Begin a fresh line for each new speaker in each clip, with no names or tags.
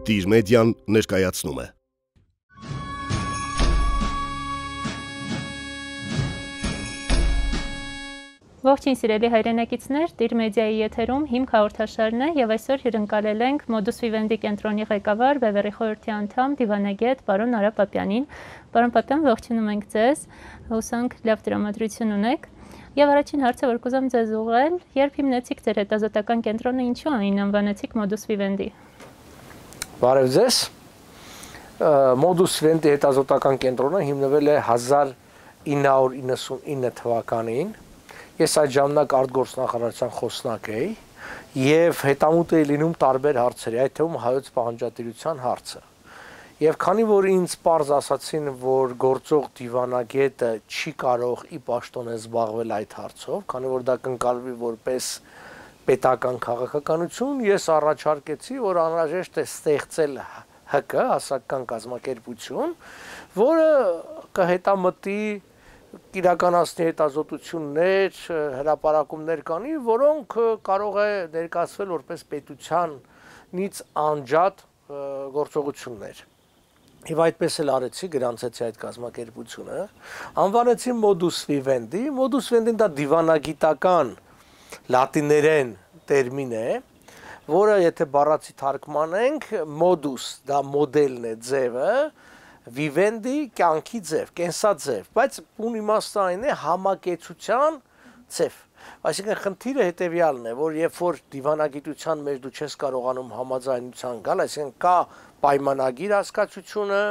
Տիր մեդիան ներկայացնում է։
Ողջույն սիրելի հայրենակիցներ, Տիր մեդիայի եթերում հիմք հաղորդաշարն է եւ այսօր հյուրընկալել ենք Modus Vivendi կենտրոնի ղեկավար Վևերի խորհրդի անդամ դիվանագետ պարոն Արա Պապյանին։ Պարոն Պապյան, ողջունում ենք ձեզ, հուսանք լավ տրամադրություն ունեք։ Եվ առաջին հարցը, որ կուզեմ ձեզ ուղղել, երբ հիմնեցիք ձեր հետազոտական կենտրոնը, ինչու այն անվանեցիք Modus Vivendi։
Բարև ձեզ։ Modus Vivendi հետազոտական կենտրոնը հիմնվել է 1999 թվականին։ Ես այդ ժամանակ արտգործնախարարության խոսնակ էի եւ հետամուտ էի լինում տարբեր հարցերի, այդ թվում հայոց պահանջատիրության հարցը։ Եվ քանի որ ինձ պարզ ասացին, որ գործող դիվանագետը չի կարող ի պաշտոնե զբաղվել այդ հարցով, քանի որ դա կընկալվի որպես պետական քաղաքականություն, ես առաջարկեցի, որ անհրաժեշտ է ստեղծել ՀԿ, հասարակական կազմակերպություն, որը կհետամտի իրականացնի հետազոտություններ, հրապարակումներ կանի, որոնք կարող է ներկայացվել որպես պետությանից անջատ գործողություններ։ Եվ այդպես էլ արեցի, գրանցեցի այդ կազմակերպությունը, անվանեցի Modus Vivendi։ Modus Vivendi-ն դա դիվանագիտական լատիներեն տերմին է, որը եթե բառացի թարգմանենք, modus դա մոդելն է, ձևը, Vivendi կյանքի ձև, կենսաձև, բայց բուն իմաստը այն է համակեցության ձև։ Այսինքն խնդիրը հետևյալն է, որ երբ որ դիվանագիտության մեջ դու չես կարողանում համաձայնության գալ, այսինքն կա պայմանագիր հասկացությունը,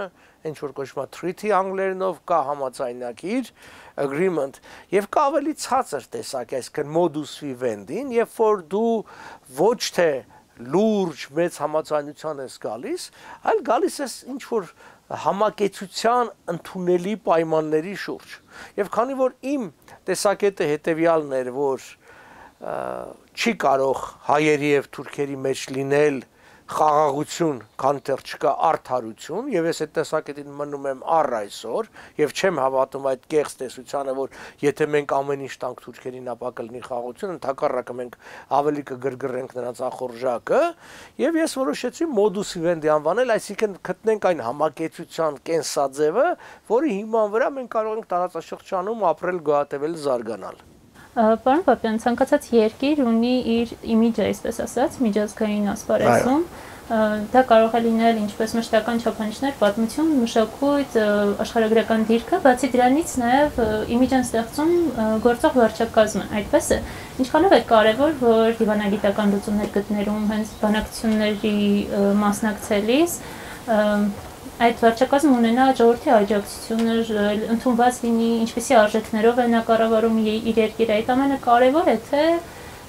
ինչ որ կոչվում է treaty անգլերենով, կա համաձայնագիր, agreement, եւ կա ավելի ցածր տեսակ, այսինքն modus vivendi-ին, երբ որ դու ոչ թե լուրջ մեծ համաձայնության ես գալիս, այլ գալիս ես ինչ որ համակեցության ընդունելի պայմանների շուրջ։ Եվ քանի որ իմ տեսակետը հետևյալն էր, որ չի կարող հայերի եւ թուրքերի մեջ լինել խաղաղություն, քան դեռ չկա արդարություն, եւ ես այդ տեսակետին մնում եմ առ այսօր եւ չեմ հավատում այդ կեղծ տեսությանը, որ եթե մենք ամեն ինչ տանք թուրքերին, ապա կլինի խաղաղություն, ընդհակառակը մենք ավելի կգրգռենք նրանց ախորժակը, եւ ես որոշեցի Modus Vivendi անվանել, այսինքն գտնենք այն համակեցության կենսաձևը, որի հիման վրա մենք կարող ենք տարածաշրջանում ապրել, գոյատևել, զարգանալ։
Պարոն Պապյան, ցանկացած երկիր ունի իր իմիջը, այսպես ասած, միջազգային ասպարեզում։ Դա կարող է լինել ինչպես մշտական չափանիշներ, պատմություն, մշակույթ, աշխարհագրական դիրքը, բացի դրանից նաև իմիջ են ստեղծում գործող վարչակազմը, այդպես է։ Ինչքանով է կարևոր, որ դիվանագիտական լուծումներ գտնելուն հենց բանակցությունների մասնակցելիս այդ վարչակազմը ունենա ժողովրդի աջակցությունը, ընդունված լինի, ինչպիսի արժեքներով է նա կառավարում իր երկիրը, այդ ամենը կարևոր է, թե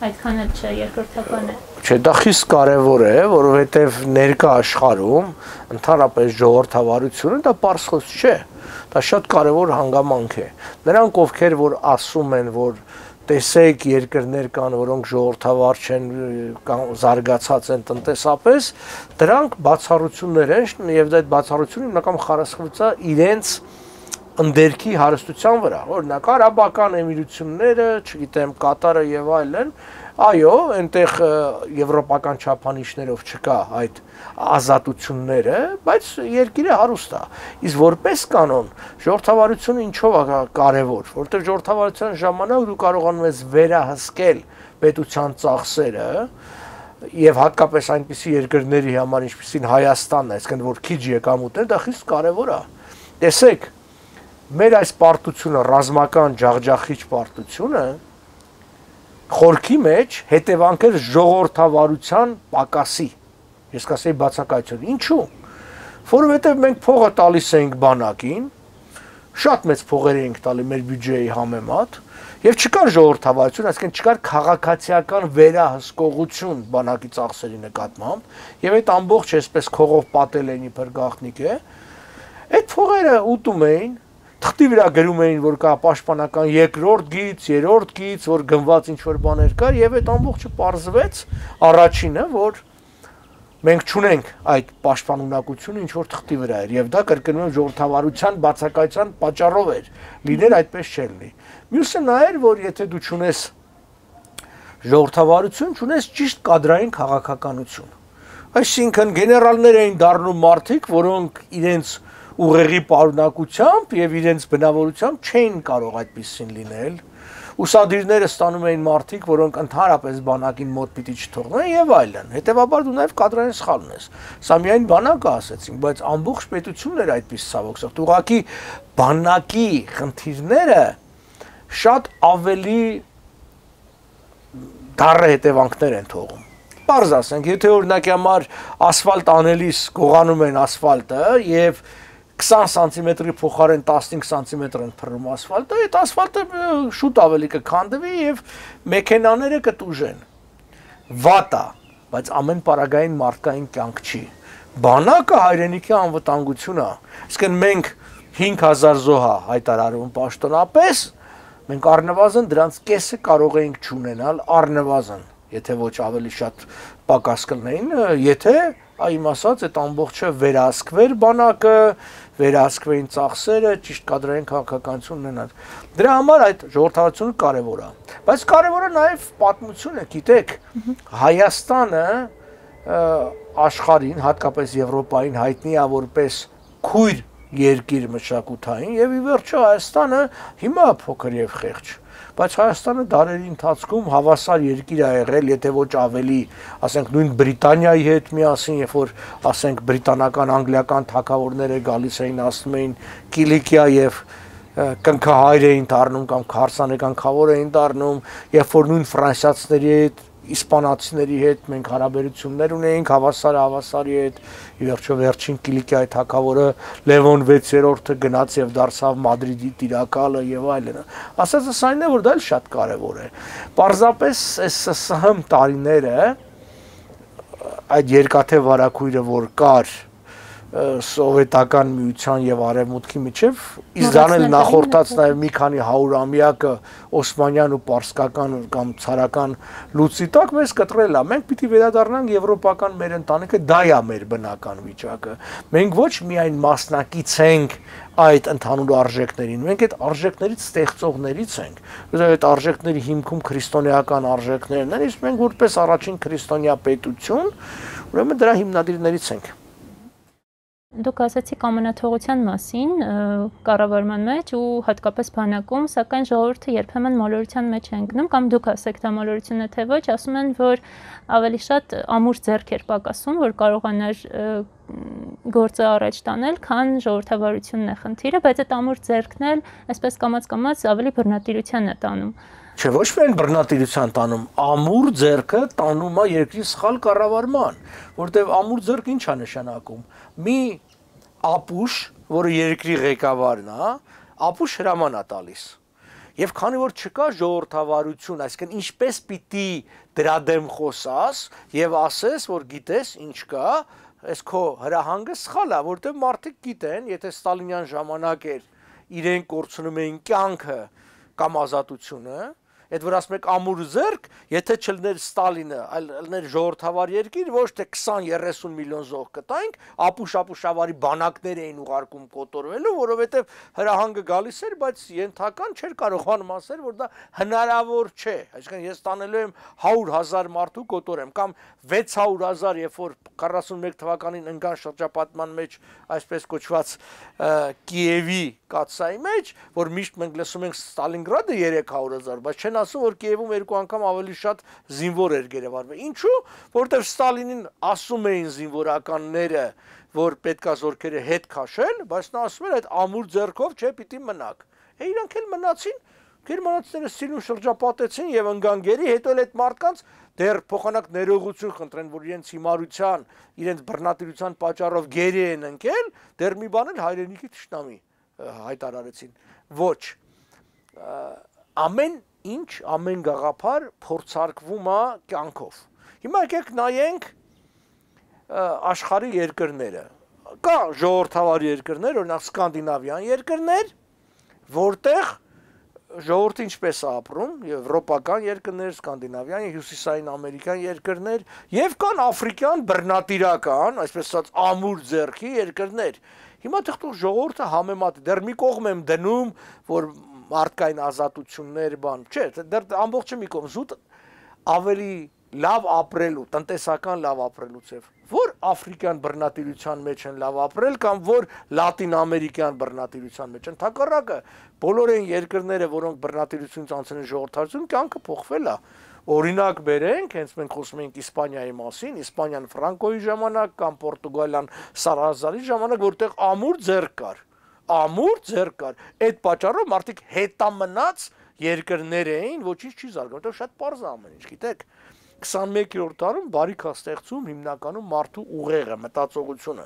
այդքան էլ չէ, երկրորդական է։
Չէ, դա խիստ կարևոր է, որովհետև ներկա աշխարհում ընդհանրապես ժողովրդավարությունը դա պարզ խոսք չէ, դա շատ կարևոր հանգամանք է։ Նրանք, ովքեր որ ասում են, որ տեսեք երկրներ կան, որոնք ժողովրդավար չեն, զարգացած են տնտեսապես, դրանք բացառություններ են եւ այդ բացառությունը հիմնական խարսխվծա իրենց ընդերքի հարստության վրա, օրինակ արաբական էմիրությունները, չգիտեմ, Կատարը եւ այլն, այո, այնտեղ եվրոպական չափանիշներով չկա այդ ազատությունները, բայց երկիրը հարուստ է։ Իսկ որպես կանոն ժողովրդավարությունը ինչով է կարևոր, որտեղ ժողովրդավարության ժամանակ դու կարողանում ես վերահսկել պետության ծախսերը եւ հատկապես այնպիսի երկրների համար, ինչպիսին Հայաստանն է, այսինքն որ քիչ եկամուտներ, դա խիստ կարևոր է։ Տեսեք, մեր այս պարտությունը, ռազմական ջախջախիչ պարտությունը խորքի մեջ հետևանքեր ժողովրդավարության պակասի, ես կասեի բացակայություն, ինչու, որովհետև մենք փողը տալիս ենք բանակին, շատ մեծ փողեր ենք տալի մեր բյուջեի համեմատ, եւ չկար ժողովրդավարություն, այսինքն չկար քաղաքացիական վերահսկողություն բանակի ծախսերի նկատմամբ, եւ այդ ամբողջ այսպես քողով պատել են իբր գաղտնիք է, այդ փողերը ուտում էին, թղթի վրա գրում էին, որ կա պաշտպանական երկրորդ գիծ, երրորդ գիծ, որ գնված ինչ-որ բաներ կար, եւ այդ ամբողջը պարզվեց առաջինը, որ մենք չունենք այդ պաշտպանունակությունը, ինչ-որ թղթի վրա էր, եւ դա կրկնում եմ ժողովրդավարության բացակայության պատճառով էր, լինել այդպես չէր լինի։ Մյուսը նա էր, որ եթե դու չունես ժողովրդավարություն, չունես ճիշտ կադրային քաղաքականություն, Այսինքն գեներալներ էին դառնում մարդիկ, որոնք իրենց ուղեղի պարունակությամբ եւ իրենց բնավորությամբ չէին կարող այդպեսին լինել։ Ուսադիրները ստանում էին մարդիկ, որոնք ընդհանրապես բանակին մոտ պիտի չթողնեն եւ այլն։ Հետեւաբար դու նաեւ կադրային սխալ ունես։ Սա միայն բանակը ասեցին, բայց ամբողջ պետությունն էր այդպես ցավոք սրտի։ Ուղղակի բանակի խնդիրները շատ ավելի դառը հետևանքներ են թողում։ Պարզ ասենք, եթե օրինակի համար ասֆալտ անելիս գողանում են ասֆալտը եւ 20 սանտիմետրի փոխարեն 15 սանտիմետր են փռում ասֆալտը, այդ ասֆալտը շուտ ավելի կքանդվի եւ մեքենաները կտուժեն։ Վատ է, բայց ամեն պարագային մարդկային կյանք չի։ Բանակը հայրենիքի անվտանգություն է։ Իսկ մենք 5000 զոհ հայտարարում պաշտոնապես, մենք առնվազն դրանց կեսը կարող էինք չունենալ, առնվազն, եթե ոչ ավելի շատ պակաս կլինեին, եթե այմ ասած այդ ամբողջը վերահսկվեր բանակը, վերահսկվեին ծախսերը, ճիշտ կադրային քաղաքականություն ունենալ։ Դրա համար այդ ժողովրդավարությունը կարևոր է։ Բայց կարևորը նաև պատմությունը, գիտեք, Հայաստանը աշխարհին, հատկապես Եվրոպային հայտնի է որպես քույր երկիր մշակութային եւ ի վերջո Հայաստանը հիմա փոքր եւ խեղճ, բայց Հայաստանը դարերի ընթացքում հավասար երկիր է եղել, եթե ոչ ավելի, ասենք նույն Բրիտանիայի հետ միասին, երբ որ ասենք բրիտանական, անգլիական թագավորները գալիս էին, ասում էին Կիլիկիա եւ կնքահայր էին դառնում կամ քարսանեկան խավոր էին դառնում, երբ որ նույն ֆրանսիացիների հետ իսպանացիների հետ մենք հարաբերություններ ունեինք հավասարի հետ, ի վերջո վերջին Կիլիկիայի թագավորը Լևոն 6-րդը գնաց եւ դարձավ Մադրիդի տիրակալը եւ այլն։ Ասածս այն է, որ դա էլ շատ կարեւոր է։ Պարզապես այս ՍՍՀ տարիները այդ երկաթե վարակույրը որ կար սովետական միության եւ արևմուտքի միջև Իսրայելը նախորդած նաեւ մի քանի 100-ամյակը օսմանյան ու պարսկական կամ ցարական լուծի տակ մեզ կտրել է։ Մենք պիտի վերադառնանք եվրոպական մեր ընտանիքը, դա է մեր բնական վիճակը։ Մենք ոչ միայն մասնակից ենք այդ ընդհանուր արժեքներին, մենք այդ արժեքներից ստեղծողներից ենք։ Այդ արժեքների հիմքում քրիստոնեական արժեքներն են, իսկ մենք որպես առաջին քրիստոնյա պետություն, ուրեմն դրա հիմնադիրներից ենք։
Դուք ասացիք ամենաթողության մասին կառավարման մեջ ու հատկապես բանակում, սակայն ժողովուրդը երբեմն մոլորության մեջ է ընկնում, կամ դուք ասեք դա մոլորություն է թե ոչ, ասում են, որ ավելի շատ ամուր ձեռք էր պակասում, որ կարողանար գործը առաջ տանել, քան ժողովրդավարությունն է խնդիրը, բայց այդ ամուր ձեռքն էլ այսպես կամաց-կամաց ավելի բռնատիրության է տանում։
Չէ, ոչ միայն բռնատիրության տանում, ամուր ձեռքը տանում է երկրի սխալ կառավարման, որտեղ ամուր ձեռք ինչ է նշանակում։ Մի ապուշ, որը երկրի ղեկավարն է, ապուշ հրաման է տալիս։ Եվ քանի որ չկա ժողովրդավարություն, այսինքն ինչպես պիտի դրա դեմ խոսաս եւ ասես, որ գիտես ինչ կա, այս քո հրահանգը սխալ է, որտեղ մարդիկ գիտեն, եթե Ստալինյան ժամանակ էր իրենք կորցնում էին կյանքը կամ ազատությունը, այդ որ ասում եք ամուր ձեռք, եթե չլներ Ստալինը, այլ լներ ժողովրդավար երկիր, ոչ թե 20-30 միլիոն զոհ կտայինք, ապուշ-ապուշավարի բանակներ էին ուղարկում կոտորվելու, որովհետև հրահանգը գալիս էր, բայց ենթական չէր կարողանում ասել, որ դա հնարավոր չէ։ Այսինքն ես տանելու եմ 100,000 մարդու կոտորեմ կամ 600,000, երբ որ 41 թվականին ընկան շրջապատման մեջ այսպես կոչված Կիևի կաթսայի մեջ, որ միշտ մենք լսում ենք Ստալինգրադը 300,000, բայց չեն ասում, որ Կիևում 2 անգամ ավելի շատ զինվոր էր գերեվարվել։ Ինչու՞, որովհետև Ստալինին ասում էին զինվորականները, որ պետքա զորքերը հետ քաշել, բայց նա ասում էր այդ ամուր ձեռքով չէ, պիտի մնաք։ Իրանք էլ մնացին, գերմանացիները սիրուն շրջապատեցին եւ ընկան գերի, հետո էլ այդ մարդկանց դեռ փոխանակ ներողություն խնդրեն, որ իրենց հիմարության, իրենց բռնատիրության պատճառով գերի են ընկել, դեռ մի բան էլ հայրենիքի թշնամի հայտարարեցին։ Ոչ։ Ամեն ինչ, ամեն գաղափար փորձարկվում է կյանքով։ Հիմա եկեք նայենք աշխարհի երկրները։ Կա ժողովրդավար երկրներ, օրինակ սկանդինավյան երկրներ, որտեղ ժողովուրդը ինչպես է ապրում, եվրոպական երկրներ, սկանդինավյան, հյուսիսային ամերիկյան երկրներ, եւ կան աֆրիկյան բռնատիրական, այսպես ասած ամուր ձեռքի երկրներ։ Հիմա թող ժողովուրդը համեմատի, դեռ մի կողմ եմ դնում, որ մարդկային ազատություններ բան, չէ, դեռ ամբողջը մի կողմ, զուտ ավելի լավ ապրելու, տնտեսական լավ ապրելու ձև, որ աֆրիկյան բռնատիրության մեջ են լավ ապրել կամ որ լատին ամերիկյան բռնատիրության մեջ են, թակառակը բոլոր այն երկրները, որոնք բռնատիրությունից անցել են ժողովրդավարություն, կյանքը փոխվել է։ Օրինակ բերենք, հենց մենք խոսում ենք Իսպանիայի մասին, Իսպանիան Ֆրանկոյի ժամանակ կամ Պորտուգալիան Սալազարի ժամանակ, որտեղ ամուր ձեռք կար, այդ պատճառով մարդիկ հետամնաց երկրներ էին, ոչինչ չի զարգանում, որտեղ շատ պարզ է ամեն ինչ, գիտեք, 21-րդ դարում բարիք է ստեղծում հիմնականում մարդու ուղեղը, մտածողությունը։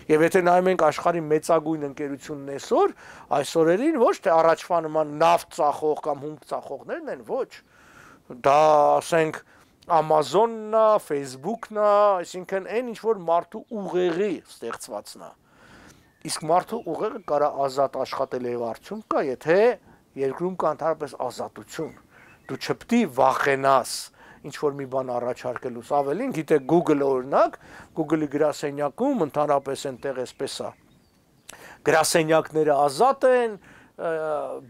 Եվ եթե նայում ենք աշխարհի մեծագույն ընկերությունն այս օրերին ոչ թե առաջվա նման նավթ ծախող կամ հումք ծախողներն են, ոչ։ Դա ասենք Amazon-ն է, Facebook-ն է, այսինքն այն ինչ որ մարդու ուղեղի ստեղծվածն է։ Իսկ մարդու ուղեղը կարա ազատ աշխատել եւ արդյունք կա, եթե երկրում կա ընդհանրապես ազատություն։ Դու չպետք է վախենաս ինչ որ մի բան առաջարկելուց, ավելին, գիտեք Google-ը օրինակ, Google-ի գրասենյակում ընդհանրապես այնտեղ էսպես է։ Գրասենյակները ազատ են,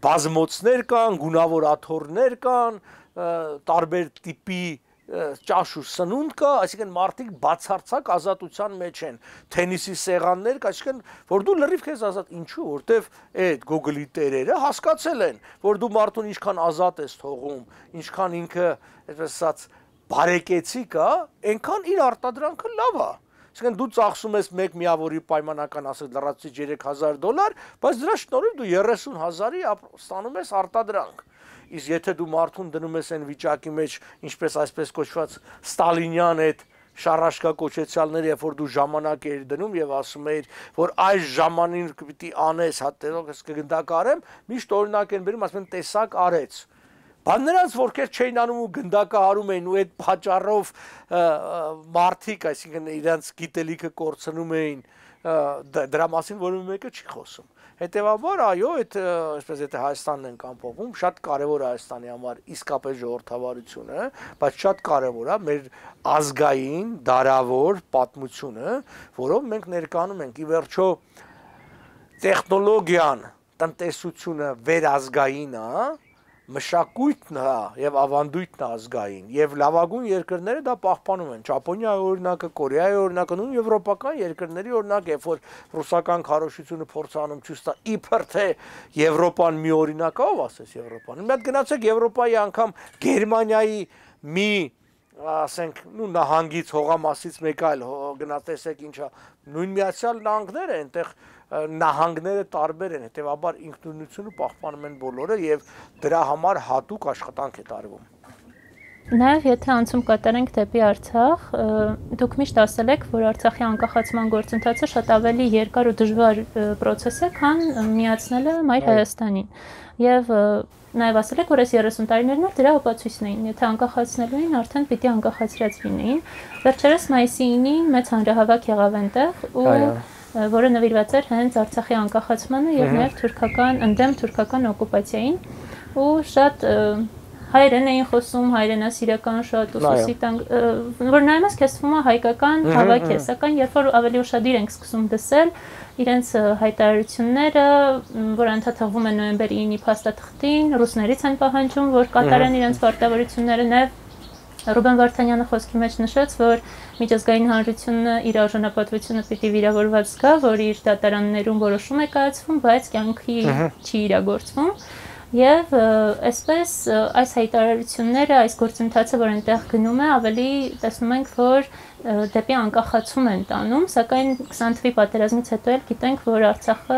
բազմոցներ կան, գունավոր աթոռներ կան, տարբեր տիպի ճաշ ու սնունդ կա, այսինքն մարդիկ բացարձակ ազատության մեջ են, թենիսի սեղաններ կա, այսինքն որ դու լրիվ քեզ ազատ, ինչու, որտեվ այդ Google-ի տերերը հասկացել են, որ դու մարդուն ինչքան ազատ ես թողում, ինչքան ինքը, այսպես ասած, բարեկեցիկ է, այնքան իր արտադրանքը լավ է։ Այսինքն դու ծախսում ես մեկ միավորի պայմանական ասած լրացուցիչ $3,000, բայց դրա շնորհիվ դու 30,000-ի ստանում ես արտադրանք։ Իսկ եթե դու մարդուն դնում ես այն վիճակի մեջ, ինչպես այսպես կոչված Ստալինյան այդ շարաշկա կոչեցյալները, երբ որ դու ժամանակ էիր դնում եւ ասում էիր, որ այս ժամանին պիտի անես, հատերով ես կգնդակարեմ, միշտ օրինակ են բերում, ասում են տեսակ արեց։ Բան նրանց որքեր չէին անում ու գնդակահարում էին ու այդ պատճառով մարդիկ, այսինքն իրենց գիտելիքը կորցնում էին, դրա մասին որևէ մեկը չի խոսում։ Հետևաբար, այո, այդ այսպես եթե Հայաստանն ենք ամփոփում, շատ կարևոր է Հայաստանի համար իսկապես ժողովրդավարությունը, բայց շատ կարևոր է մեր ազգային, դարավոր պատմությունը, որով մենք ներկայանում ենք։ Ի վերջո տեխնոլոգիան, տնտեսությունը վերազգային է, մշակույթն է եւ ավանդույթն է ազգային եւ լավագույն երկրները դա պահպանում են Ճապոնիայի օրինակը, Կորեայի օրինակը, նույն եվրոպական երկրների օրինակ, երբ որ ռուսական քարոշությունը փորձանում ցույց տա իբր թե Եվրոպան մի օրինակ է, ով ասես Եվրոպան։ Մի հատ գնացեք Եվրոպայի անգամ Գերմանիայի մի ասենք նու նահանգից հողամասից մեկ այլ գնաց տեսեք ինչա նույն Միացյալ Նահանգները այնտեղ նահանգները տարբեր են, հետևաբար ինքնուրույնությունը պահպանում են բոլորը եւ դրա համար հատուկ աշխատանք է տարվում։
Նաև եթե անցում կատարենք դեպի Արցախ, դուք միշտ ասել եք, որ Արցախի անկախացման գործընթացը շատ ավելի երկար ու դժվար process է, քան միացնելը Մայր Հայաստանին։ Եվ նաև ասել եք, որ այս 30 տարիներն էլ դրա ապացույցն էին, եթե անկախացնելու էին, արդեն պիտի անկախացրած լինեին։ Վերջերս մայիսի 9-ին մեծ հանրահավաք եղավ այնտեղ ու որը նվիրված էր հենց Արցախի անկախացմանը եւ նաև ընդդեմ թուրքական օկուպացիային ու շատ հայերեն էին խոսում, հայրենասիրական շատ ուսուցի տան, որ նայումս քեզ թվում է հայկական հավաք է, սակայն երբ որ ավելի ուշադիր ենք սկսում դասել իրենց հայտարարությունները, որ անդադարվում են նոյեմբերի 9-ի փաստաթղթին, ռուսներից են պահանջում, որ կատարեն իրենց պարտավորությունները, նաև Ռուբեն Վարդանյանը խոսքի մեջ նշեց, որ միջազգային հանրությունը իր արժանապատվությունը պիտի վիրավորված զգա, որ իր դատարաններում որոշում է կայացվում, բայց կյանքի չի իրագործվում։ Եվ այսպես այս հայտարարությունները, այս գործընթացը, որ այնտեղ գնում է, ավելի տեսնում ենք, որ դեպի անկախացում են տանում, սակայն 20 թվականի պատերազմից հետո էլ գիտենք, որ Արցախը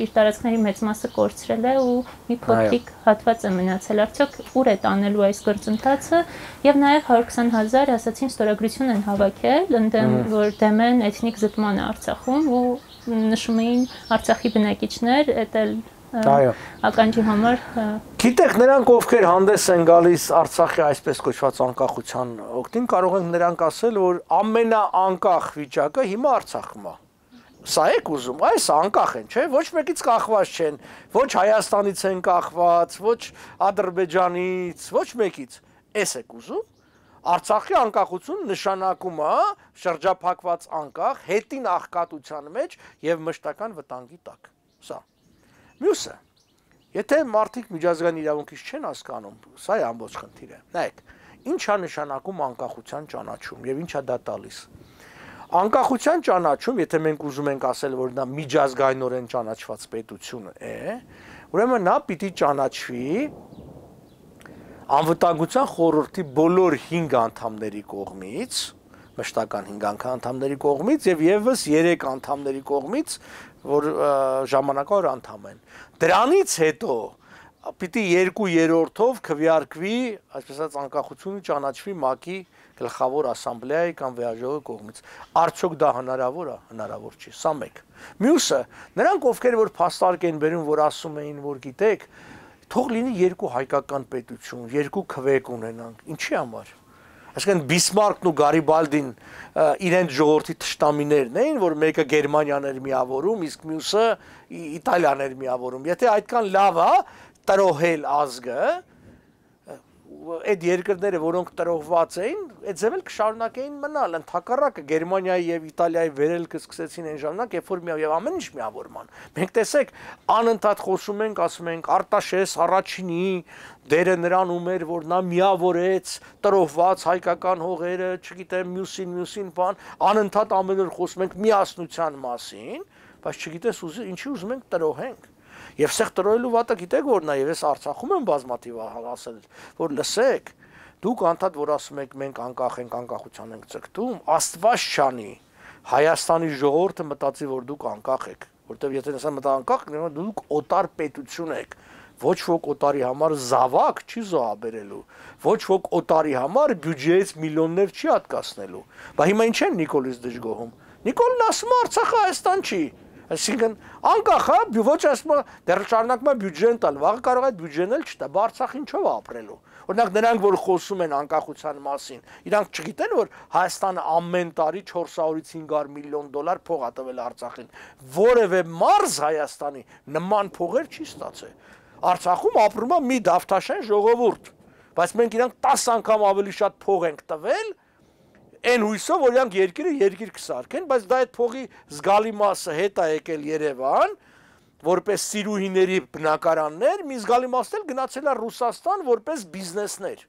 իր տարածքների մեծ մասը կորցրել է ու մի փոքրիկ հատված է մնացել։ Արդյոք ուր է տանելու այս գործընթացը եւ նաեւ 120,000 ասացին ստորագրություն են հավաքել, ընդդեմ որ դեմ են էթնիկ զտմանը Արցախում ու նշում էին Արցախի բնակիչներ, էտել ականջի համար
Գիտեք, նրանք ովքեր հանդես են գալիս Արցախի այսպես կոչված անկախության օգտին, կարող ենք նրանք ասել, որ ամենաանկախ վիճակը հիմա Արցախում է։ Սա եք ուզում, այս անկախ են, չէ՞, ոչ մեկից կախված չեն, ոչ Հայաստանից են կախված, ոչ Ադրբեջանից, ոչ մեկից։ Էս եք ուզում։ Արցախի անկախություն նշանակում է շրջափակված անկախ, հետին աղքատության մեջ եւ մշտական վտանգի տակ։ Սա Մյուսը, եթե մարդիկ միջազգային իրավունքից չեն հասկանում, սա է ամբողջ խնդիրը։ Նայեք, Ինչ է նշանակում անկախության ճանաչում եւ ինչա դա տալիս։ Անկախության ճանաչում, եթե մենք ուզում ենք ասել, որ դա միջազգայինորեն ճանաչված պետություն է, ուրեմն նա պիտի ճանաչվի Անվտանգության խորհրդի բոլոր 5 անդամների կողմից, մշտական 5 անդամների կողմից եւ եւս 3 անդամների կողմից, որ ժամանակավոր անդամ են։ Դրանից հետո պիտի 2/3-ով քվեարկվի, այսպես ասած, անկախությունը ճանաչվի ՄԱԿ-ի գլխավոր ասամբլեայի կամ վեաժողովի կողմից։ Արդյոք դա հնարավոր է, հնարավոր չի։ Սա մեկ։ Մյուսը, նրանք ովքեր որ փաստարկ են բերում, որ ասում էին, որ գիտեք, թող լինի 2 հայկական պետություն, 2 քվեկ ունենանք։ Ինչի համար։ Այսինքն Բիսմարկն ու Գարիբալդին իրենց ժողովրդի թշնամիներն էին, որ մեկը Գերմանիան էր միավորում, իսկ մյուսը Իտալիան էր միավորում։ Եթե այդքան լավ է տրոհել ազգը, այդ երկրները, որոնք տրոհված էին, այդ ձև էլ կշարունակեին մնալ, ընդհակառակը Գերմանիայի եւ Իտալիայի վերելքը սկսեցին այն ժամանակ, երբ որ եւ ամեն ինչ միավորման։ Մենք տեսեք, անընդհատ խոսում ենք, ասում ենք Արտաշես առաջինի դերը նրանում էր, որ նա միավորեց տրոհված հայկական հողերը, չգիտեմ, մյուսին բան, անընդհատ ամեն օր խոսում ենք միասնության մասին, բայց չգիտես ինչի ուզում ենք տրոհենք։ Եվ սեղ տրոհելու վատը գիտեք որ նա եւ ես Արցախում եմ բազմաթիվ ասել, որ լսեք, դուք անդադ որ ասում եք մենք անկախ ենք, անկախության ենք ցկտում, Աստված չանի, Հայաստանի ժողովուրդը մտածի որ դուք անկախ եք, որտեւ եթե ասեմ մտա անկախ, դուք օտար պետություն եք, ոչ ոք օտարի համար զավակ չի զոհաբերելու, ոչ ոք օտարի համար բյուջեից միլիոններ չի հատկացնելու։ Բա հիմա ինչ են Նիկոլից դժգոհում։ Նիկոլն ասում է Արցախը Հայաստան չի։ Այսինքն անկախ է, ոչ ասում դեռ շարունակում է բյուջեն տալ, վաղը կարող է այդ բյուջեն էլ չտա, բա Արցախ ինչով ապրելու։ Օրինակ նրանք որ խոսում են անկախության մասին, իրանք չգիտեն որ Հայաստանը ամեն տարի 400-ից 500 միլիոն դոլար փող է տվել Արցախին։ Որևէ մարզ Հայաստանի նման փողեր չի ստացել։ Արցախում ապրում է մի դավթաշեն ժողովուրդ, բայց մենք իրանք 10 անգամ ավելի շատ փող ենք տվել Այն հույսով, որ իրանք երկիր կսարքեն, բայց դա այդ փողի զգալի մասը հետ է եկել Երևան, որպես սիրուհիների բնակարաններ, մի զգալի մասն էլ գնացել է Ռուսաստան որպես բիզնեսներ։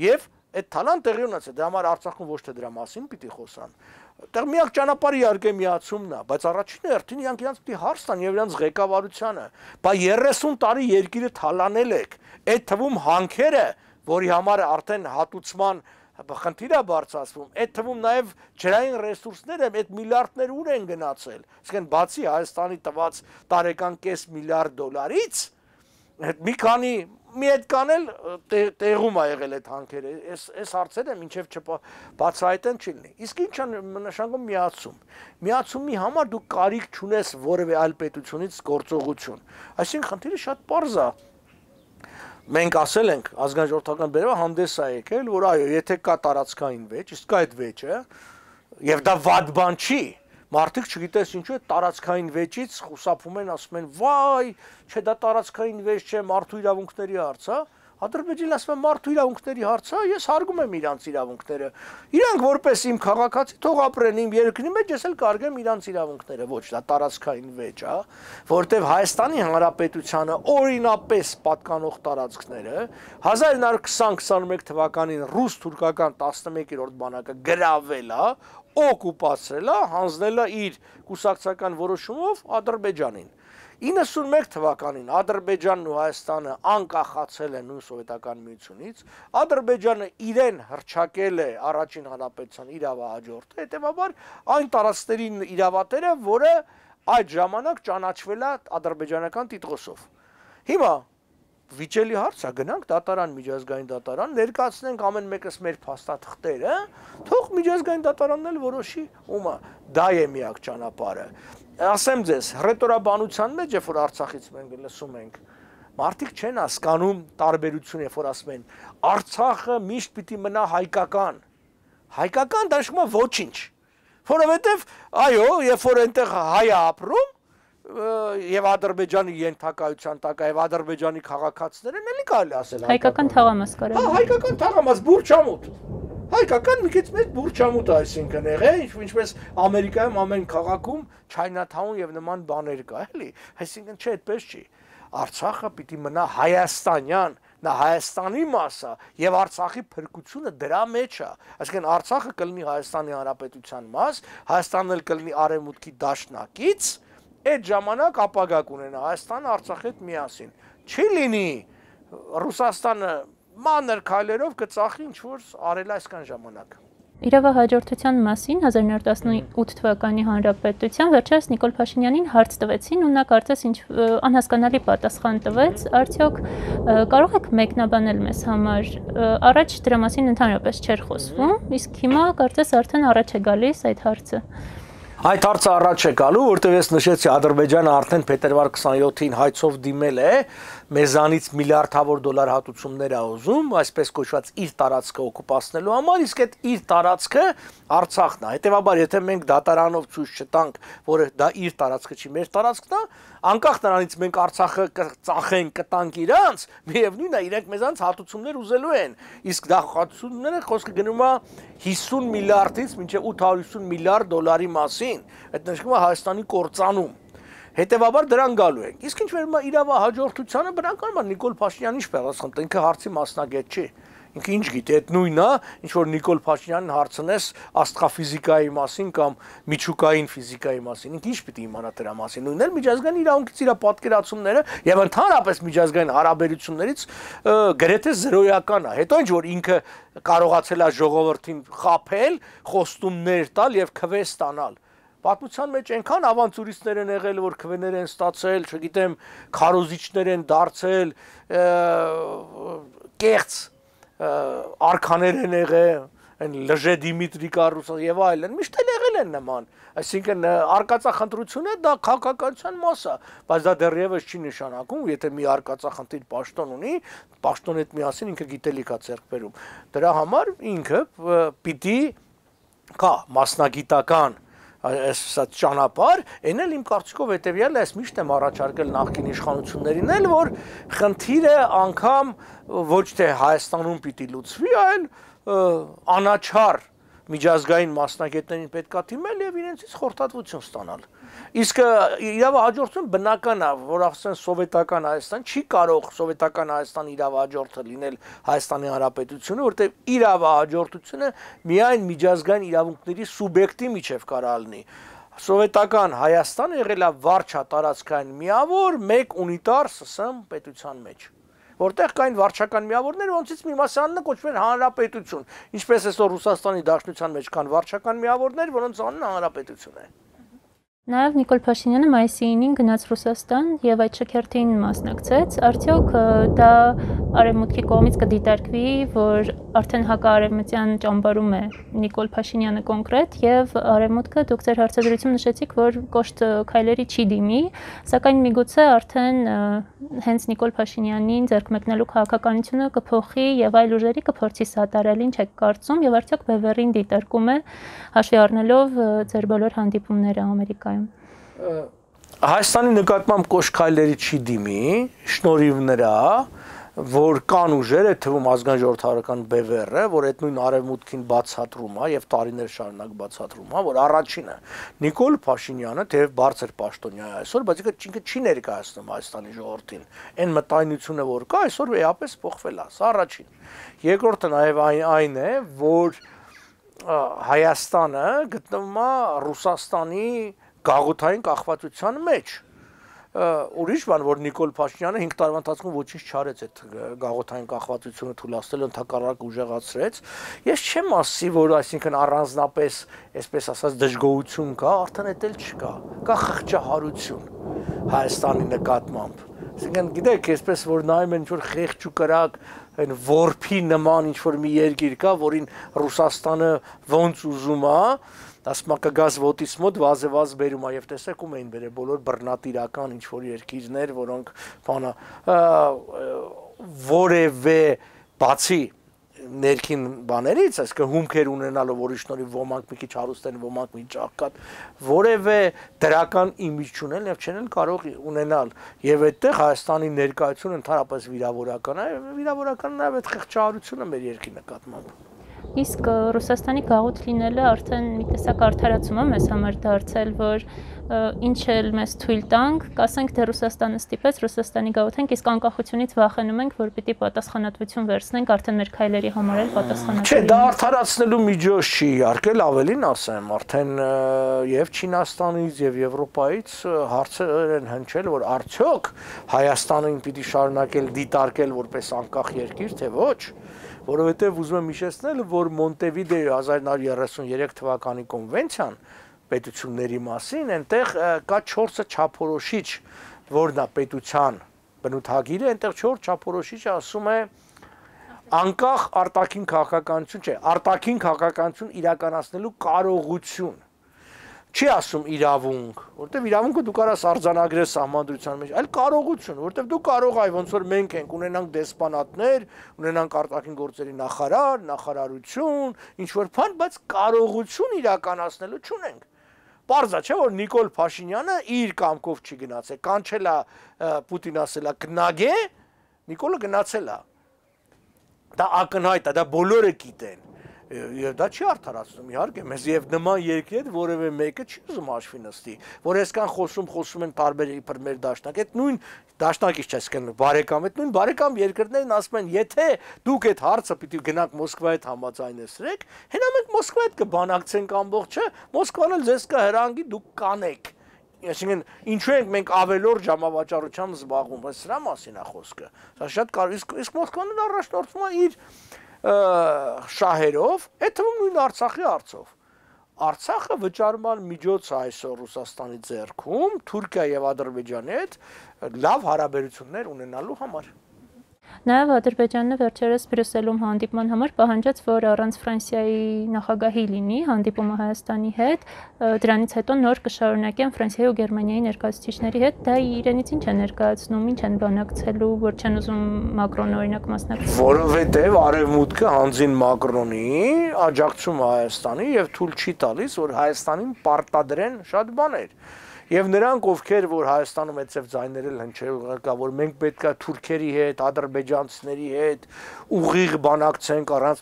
Եվ այդ թալան տեղի ունեցել, դրա համար Արցախում ոչ թե դրա մասին պիտի խոսան։ Այդտեղ միակ ճանապարհը իհարկե միացումն է, բայց առաջին հերթին իրանք իրանք պիտի հարց տան եւ իրանք ղեկավարությանը։ Բա 30 տարի երկիրը թալանել եք, այդ թվում հանքերը, որի համար արդեն հատուցման խնդիր է բարձրացվում, այդ թվում նաև ջրային ռեսուրսները այդ միլիարդներ ուր են գնացել։ Այսինքն բացի Հայաստանի տված տարեկան կես միլիարդ դոլարից, մի քանի մի այդքան էլ տեղում է եղել այդ հանքերը։ Այս հարցերը մինչև չբացահայտեն չի լինի։ Իսկ ինչ է նշանակում միացում։ Միացումի համար դու կարիք չունես որևէ այլ պետությունից գործողություն։ Այսինքն խնդիրը շատ պարզ է։ Մենք ասել ենք ազգային ժողովրդական բերումը հանդես է եկել, որ այո, եթե կա տարածքային վեճ, իսկ կա այդ վեճը, եւ դա վատ բան չի, մարդիկ չգիտես ինչու է տարածքային վեճից խուսափում են, ասում են, վայ, չէ դա տարածքային վեճ չէ, մարդու իրավունքների հարց է, Ադրբեջանը ասում է մարդու իրավունքների հարց է, ես հարգում եմ իրանց իրավունքները։ Իրանք որպես իմ քաղաքացի թող ապրեն իմ երկրի մեջ, ես էլ կարգեմ իրանց իրավունքները, ոչ դա տարածքային վեճ է, որտեղ Հայաստանի Հանրապետությանը օրինապես պատկանող տարածքները 1920-21 թվականին ռուս-թուրքական 11-րդ բանակը գրավել է, օկուպացրել է, հանձնել է իր կուսակցական որոշումով Ադրբեջանին։ 91 թվականին Ադրբեջանն ու Հայաստանը անկախացել են նույն սովետական միությունից, Ադրբեջանը իրեն հռչակել է առաջին հանրապետության իրավահաջորդը, հետևաբար այն տարածքների իրավատերը, որը այդ ժամանակ ճանաչվել է ադրբեջանական տիտղոսով։ Հիմա վիճելի հարց է, գնանք դատարան, միջազգային դատարան, ներկայացնենք ամեն մեկս մեր փաստաթղթերը, թող միջազգային դատարանն էլ որոշի ումա, դա է միակ ճանապարհը։ Ասեմ ձեզ, հռետորաբանության մեջ, երբ որ Արցախից մենք լսում ենք, մարդիկ չեն հասկանում տարբերությունը, երբ որ ասում են Արցախը միշտ պիտի մնա հայկական։ Հայկական դա նշանակում է ոչինչ։ Որովհետև այո, երբ որ այնտեղ հայ է ապրում, եւ Ադրբեջանի ենթակայության տակ եւ Ադրբեջանի քաղաքացիներն էլի կարելի ասել
հայկական թաղամաս կարելի։
Հա, հայկական թաղամաս բուրչամուտ։ Հայկական մի քիչ մեծ բուրչամուտ է այսինքն եղել, ինչպես Ամերիկայում ամեն քաղաքում Chinatown եւ նման բաներ կա, էլի։ Այսինքն չէ, այդպես չի։ Արցախը պիտի մնա հայաստանյան, նա Հայաստանի մասը եւ Արցախի փրկությունը դրա մեջ է, այսինքն Արցախը կլինի Հայաստանի Հանրապետության մաս, Հայաստանն էլ կլինի արևմուտքի դաշնակից, այդ ժամանակ ապագա կունենա Հայաստանը Արցախի հետ միասին։ Չի լինի Ռուսաստանը մանր քայլերով կծախի ինչ որ արել այսքան ժամանակ։
Իրավահաջորդության մասին 1918 թվականի հանրապետության վերջերս Նիկոլ Փաշինյանին հարց տվեցին ու նա կարծես ինչ անհասկանալի պատասխան տվեց, արդյոք կարող եք մեկնաբանել մեզ համար, առաջ դրա մասին ընդհանրապես չէր խոսվում, իսկ հիմա կարծես արդեն առաջ է գալիս այդ հարցը։
Այդ հարցը առաջ է գալու, որտեղ ես նշեցի Ադրբեջանը արդեն փետրվար 27-ին հայցով դիմել է, մեզանից միլիարդավոր դոլար հատուցումներ է ուզում, այսպես կոչված իր տարածքը օկուպացնելու համար, իսկ այդ իր տարածքը Արցախն է։ Հետևաբար, եթե մենք դատարանով ցույց չտանք, որ դա իր տարածքը չի, մեր տարածքն է, անկախ նրանից մենք Արցախը կծախենք, կտանք իրանց, միևնույնն է, իրենք մեզանից հատուցումներ ուզելու են, իսկ դա հատուցումները խոսքը գնում է 50 միլիարդից մինչև 850 միլիարդ դոլարի մասին, այդ նշվում է Հայաստանի կործանում։ Հետևաբար դրան գալու ենք։ Իսկ ինչ վերում է իրավահաջորդությանը, բնականաբար Նիկոլ Փաշինյանն ինչ պատասխան տա, ինքը հարցի մասնագետ չի։ Ինքը ինչ գիտի, այդ նույնն է, ինչ որ Նիկոլ Փաշինյանին հարցնես աստղաֆիզիկայի մասին կամ միջուկային ֆիզիկայի մասին, ինքը ինչ պիտի իմանա դրա մասին։ Նույնն էլ միջազգային իրավունքից իր պատկերացումները եւ ընդհանրապես միջազգային հարաբերություններից գրեթե զրոյական է։ Հետո ինչ որ ինքը կարողացել է ժողովրդին խաբել, խոստումներ տալ եւ քվե ստանալ։ Պատմության մեջ այնքան ավանտյուրիստներ են եղել, որ քվեներ են ստացել, չգիտեմ, քարոզիչներ են դարձել, կեղծ արքաներ են եղել, այն Լժե Դիմիտրի Կարուսը եւ այլն, միշտ էլ եղել են նման։ Այսինքն արկածախնդրությունը դա քաղաքականության մաս է, բայց դա դեռևս չի նշանակում, եթե մի արկածախնդիր պաշտոն ունի, պաշտոնի հետ միասին ինքը գիտելիք է ձեռք բերում։ Դրա համար ինքը պիտի կա մասնագիտական այս ճանապարհ, այն էլ իմ կարծիքով հետեւյալն է, այս միշտ եմ առաջարկել նախկին իշխանություններին էլ, որ խնդիրը անգամ ոչ թե Հայաստանում պիտի լուծվի, այլ անաչառ միջազգային մասնագետներին պետքա թիմել եւ իրենցից խորհրդատվություն ստանալ։ Իսկ իրավահաջորդությունը բնական է, որ ասեն սովետական Հայաստան չի կարող սովետական Հայաստան իրավահաջորդը լինել Հայաստանի Հանրապետությունը, որտեղ իրավահաջորդությունը միայն միջազգային իրավունքների սուբյեկտի միջև կարա լինի։ Սովետական Հայաստանը եղել է վարչատարածքային միավոր մեկ ունիտար ՍՍՄ պետության մեջ, որտեղ կային վարչական միավորներ, որոնցից մի մասը կոչվում էր հանրապետություն, ինչպես այսօր Ռուսաստանի Դաշնության մեջ կան վարչական միավորներ, որոնց անունը հանրապետություն է։
Նաև Նիկոլ Փաշինյանը մայիսի 9-ին գնաց Ռուսաստան եւ այդ շքերթին մասնակցեց, արդյոք դա արևմուտքի կողմից կդիտարկվի, որ արդեն հակաարևմտյան ճամբարում է Նիկոլ Փաշինյանը կոնկրետ եւ արևմուտքը դուք ձեր հարցադրություն նշեցիք, որ կոշտ քայլերի չի դիմի, սակայն միգուցե արդեն հենց Նիկոլ Փաշինյանին ձեռք մեկնելու քաղաքականությունը կփոխի եւ այլ ուժերի կփորձի սատարել, ինչ եք կարծում եւ արդյոք բևեռին դիտարկում է հաշվի առնելով ձեր բոլոր հանդիպումները Ամերիկայում։
Հայաստանի նկատմամբ կոշտ քայլերի չի դիմի, շնորհիվ նրա, որ կան ուժերը, թվում ազգային ժողովրդական բևեռը, որ այդ նույն արևմուտքին բացատրում է եւ տարիներ շարունակ բացատրում է, որ առաջինը Նիկոլ Փաշինյանը թեև բարձր պաշտոնյա է այսօր, բայց ինքը չի ներկայացնում Հայաստանի ժողովրդին։ Այն մտայնությունը, որ կա, այսօր էապես փոխվել է, սա առաջին։ Երկրորդը նաեւ այն է, որ Հայաստանը գտնվում է Ռուսաստանի գաղութային կախվածության մեջ։ Ուրիշ բան, որ Նիկոլ Փաշինյանը 5 տարվա ընթացքում ոչինչ չարեց այդ գաղութային կախվածությունը թույլատրել, ընդհակառակ ուժեղացրեց։ Ես չեմ ասի, որ այսինքն առանձնապես, այսպես ասած, դժգոհություն կա, արդեն էլ չկա։ Կա խղճահարություն Հայաստանի նկատմամբ։ Այսինքն գիտեք, այսպես որ նայում են ինչ-որ խեղճ ու կրակ, այն որփի նման ինչ-որ մի երկիր կա, որին Ռուսաստանը ոնց ուզում է, ասում է կգազ ոտից մոտ վազեվազ բերում է եւ տեսեք ում էին բերել բոլոր բռնատիրական ինչ-որ երկիրներ, որոնք բանա որևէ բացի ներքին բաներից, այսինքն հումքեր ունենալով, որի շնորհիվ ոմանք մի քիչ հարուստ են, ոմանք մի ճաղկատ, որևէ դրական իմիջ չունեն եւ չեն կարող ունենալ։ Եվ այդտեղ Հայաստանի ներկայությունը ընդհանրապես վիրավորական է, վիրավորական նաեւ այդ խղճահարությունը մեր երկրի նկատմամբ։
Իսկ Ռուսաստանի գաղութ լինելը արդեն մի տեսակ արդարացում է մեզ համար դարձել, որ ինչ էլ մեզ թույլ տանք, կասենք թե Ռուսաստանը ստիպեց, Ռուսաստանի գաղութ ենք, իսկ անկախությունից վախենում ենք, որ պիտի պատասխանատվություն վերցնենք, արդեն մեր քայլերի համար էլ պատասխանատու
Չէ, դա արդարացնելու միջոց չի, իհարկե ավելին ասեմ, արդեն եւ Չինաստանից եւ Եվրոպայից հարցեր են հնչել, որ արդյոք Հայաստանին պիտի շարունակել դիտարկել որպես անկախ երկիր, թե ոչ, որովհետեւ ուզում եմ հիշեցնել, որ Մոնտեվիդեոյի 1933 թվականի կոնվենցիան պետությունների մասին, այնտեղ կա 4 չափորոշիչ, որն է պետության բնութագիրը, այնտեղ 4 չափորոշիչը ասում է անկախ արտաքին քաղաքականություն, չէ, արտաքին քաղաքականություն իրականացնելու կարողություն։ Չի ասում իրավունք, որտեվ իրավունքը դու կարաս արձանագրես սահմանադրության մեջ, այլ կարողություն, որտեվ դու կարող այ ոնց որ մենք ենք ունենանք դեսպանատներ, ունենանք արտաքին գործերի նախարար, նախարարություն, ինչ որ բան, բայց կարողություն իրականացնելու չունենք։ Պարզա չէ, որ Նիկոլ Փաշինյանը իր կամքով չի գնացել, կանչել է Պուտին ասել է գնագե, Նիկոլը գնացել է։ Դա ակնհայտ է, դա բոլորը գիտեն։ Եվ դա չի արդարացնում, իհարկե, մեզ եւ նման երկրի հետ որևէ մեկը չի ուզում հաշվի նստի, որ այսքան խոսում են տարբեր իբր մեր դաշնակ, այդ նույն դաշնակից չես կներում, բարեկամ, այդ նույն բարեկամ երկրներն ասում են, եթե դուք այդ հարցը պիտի գնաք Մոսկվայի հետ համաձայնեցրեք, հենա մենք Մոսկվայի հետ կբանակցենք ամբողջը, Մոսկվան էլ ձեզ կհրանգի, դուք կանեք։ Այսինքն, ինչու ենք մենք ավելորդ ժամավաճառությամբ զբաղվում, բայց սրա մասին է խոսքը։ Սա շատ կարևոր, իսկ Մոսկվան առաջնորդվում է իր շահերով, այդ թվում նույն Արցախի հարցով։ Արցախը վճարման միջոց է այսօր Ռուսաստանի ձեռքում, Թուրքիա եւ Ադրբեջանի հետ լավ հարաբերություններ ունենալու համար։
Նաև Ադրբեջանը վերջերս Բրյուսելում հանդիպման համար պահանջեց, որ առանց Ֆրանսիայի նախագահի լինի հանդիպումը Հայաստանի հետ, դրանից հետո նոր կշարունակեն Ֆրանսիայի ու Գերմանիայի ներկայացուցիչների հետ, դա իրենից ինչ է ներկայացնում, ինչ են բանակցելու, որ չեն ուզում Մակրոնը օրինակ մասնակցել։
Որովհետև Արևմուտքը հանձին Մակրոնի աջակցում Հայաստանի եւ թույլ չի տալիս, որ Հայաստանին պարտադրեն շատ բաներ։ Եվ նրանք, ովքեր որ Հայաստանում այդպես ձայներել հնչել կա, որ մենք պետքա թուրքերի հետ, ադրբեջանցիների հետ ուղիղ բանակցենք առանց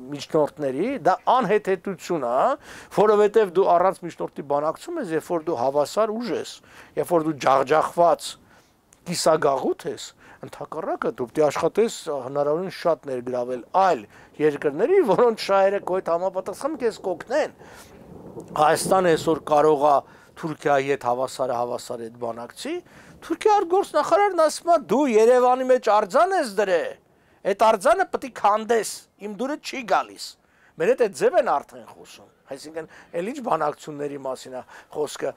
միջնորդների, դա անհեթեթություն է, որովհետև դու առանց միջնորդի բանակցում ես, երբ որ դու հավասար ուժ ես, երբ որ դու ջախջախված կիսագաղութ ես, ընդհակառակը դու պետք է աշխատես հնարավորին շատ ներգրավել այլ երկրների, որոնց շահերը քո հետ համապատասխան քեզ կօգնեն։ Հայաստանը այսօր կարող է Թուրքիայի հետ հավասարը հետ բանակցի, Թուրքիա արտգործնախարարն ասում է դու Երևանի մեջ արձան ես դրել, այդ արձանը պետք է քանդես, իմ դուրը չի գալիս։ Մեր հետ այդ ձև են արդեն խոսում, այսինքն էլ ինչ բանակցությունների մասին է խոսքը։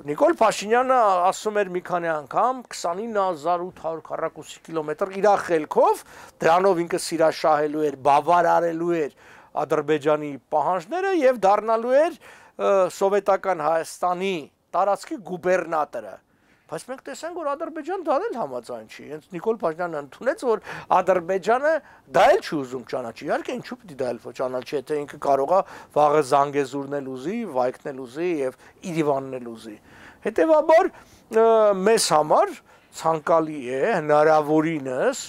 Նիկոլ Փաշինյանը ասում էր մի քանի անգամ 29800 քառակուսի կիլոմետր իր խելքով, դրանով ինքը սիրաշահելու էր, բավարարելու էր Ադրբեջանի պահանջները եւ դառնալու էր սովետական Հայաստանի տարածքի գուբերնատորը։ Բայց մենք տեսանք, որ Ադրբեջանը դա էլ համաձայն չի։ Հենց Նիկոլ Փաշինյանը ընդունեց, որ Ադրբեջանը դա էլ չի ուզում ճանաչի։ Իհարկե, ինչու պիտի դա էլ ճանաչի, եթե ինքը կարող է վաղը Զանգեզուրն էլ ուզի, Վայքն էլ ուզի եւ Իրիվանն էլ ուզի։ Հետևաբար մեզ համար ցանկալի է հնարավորինս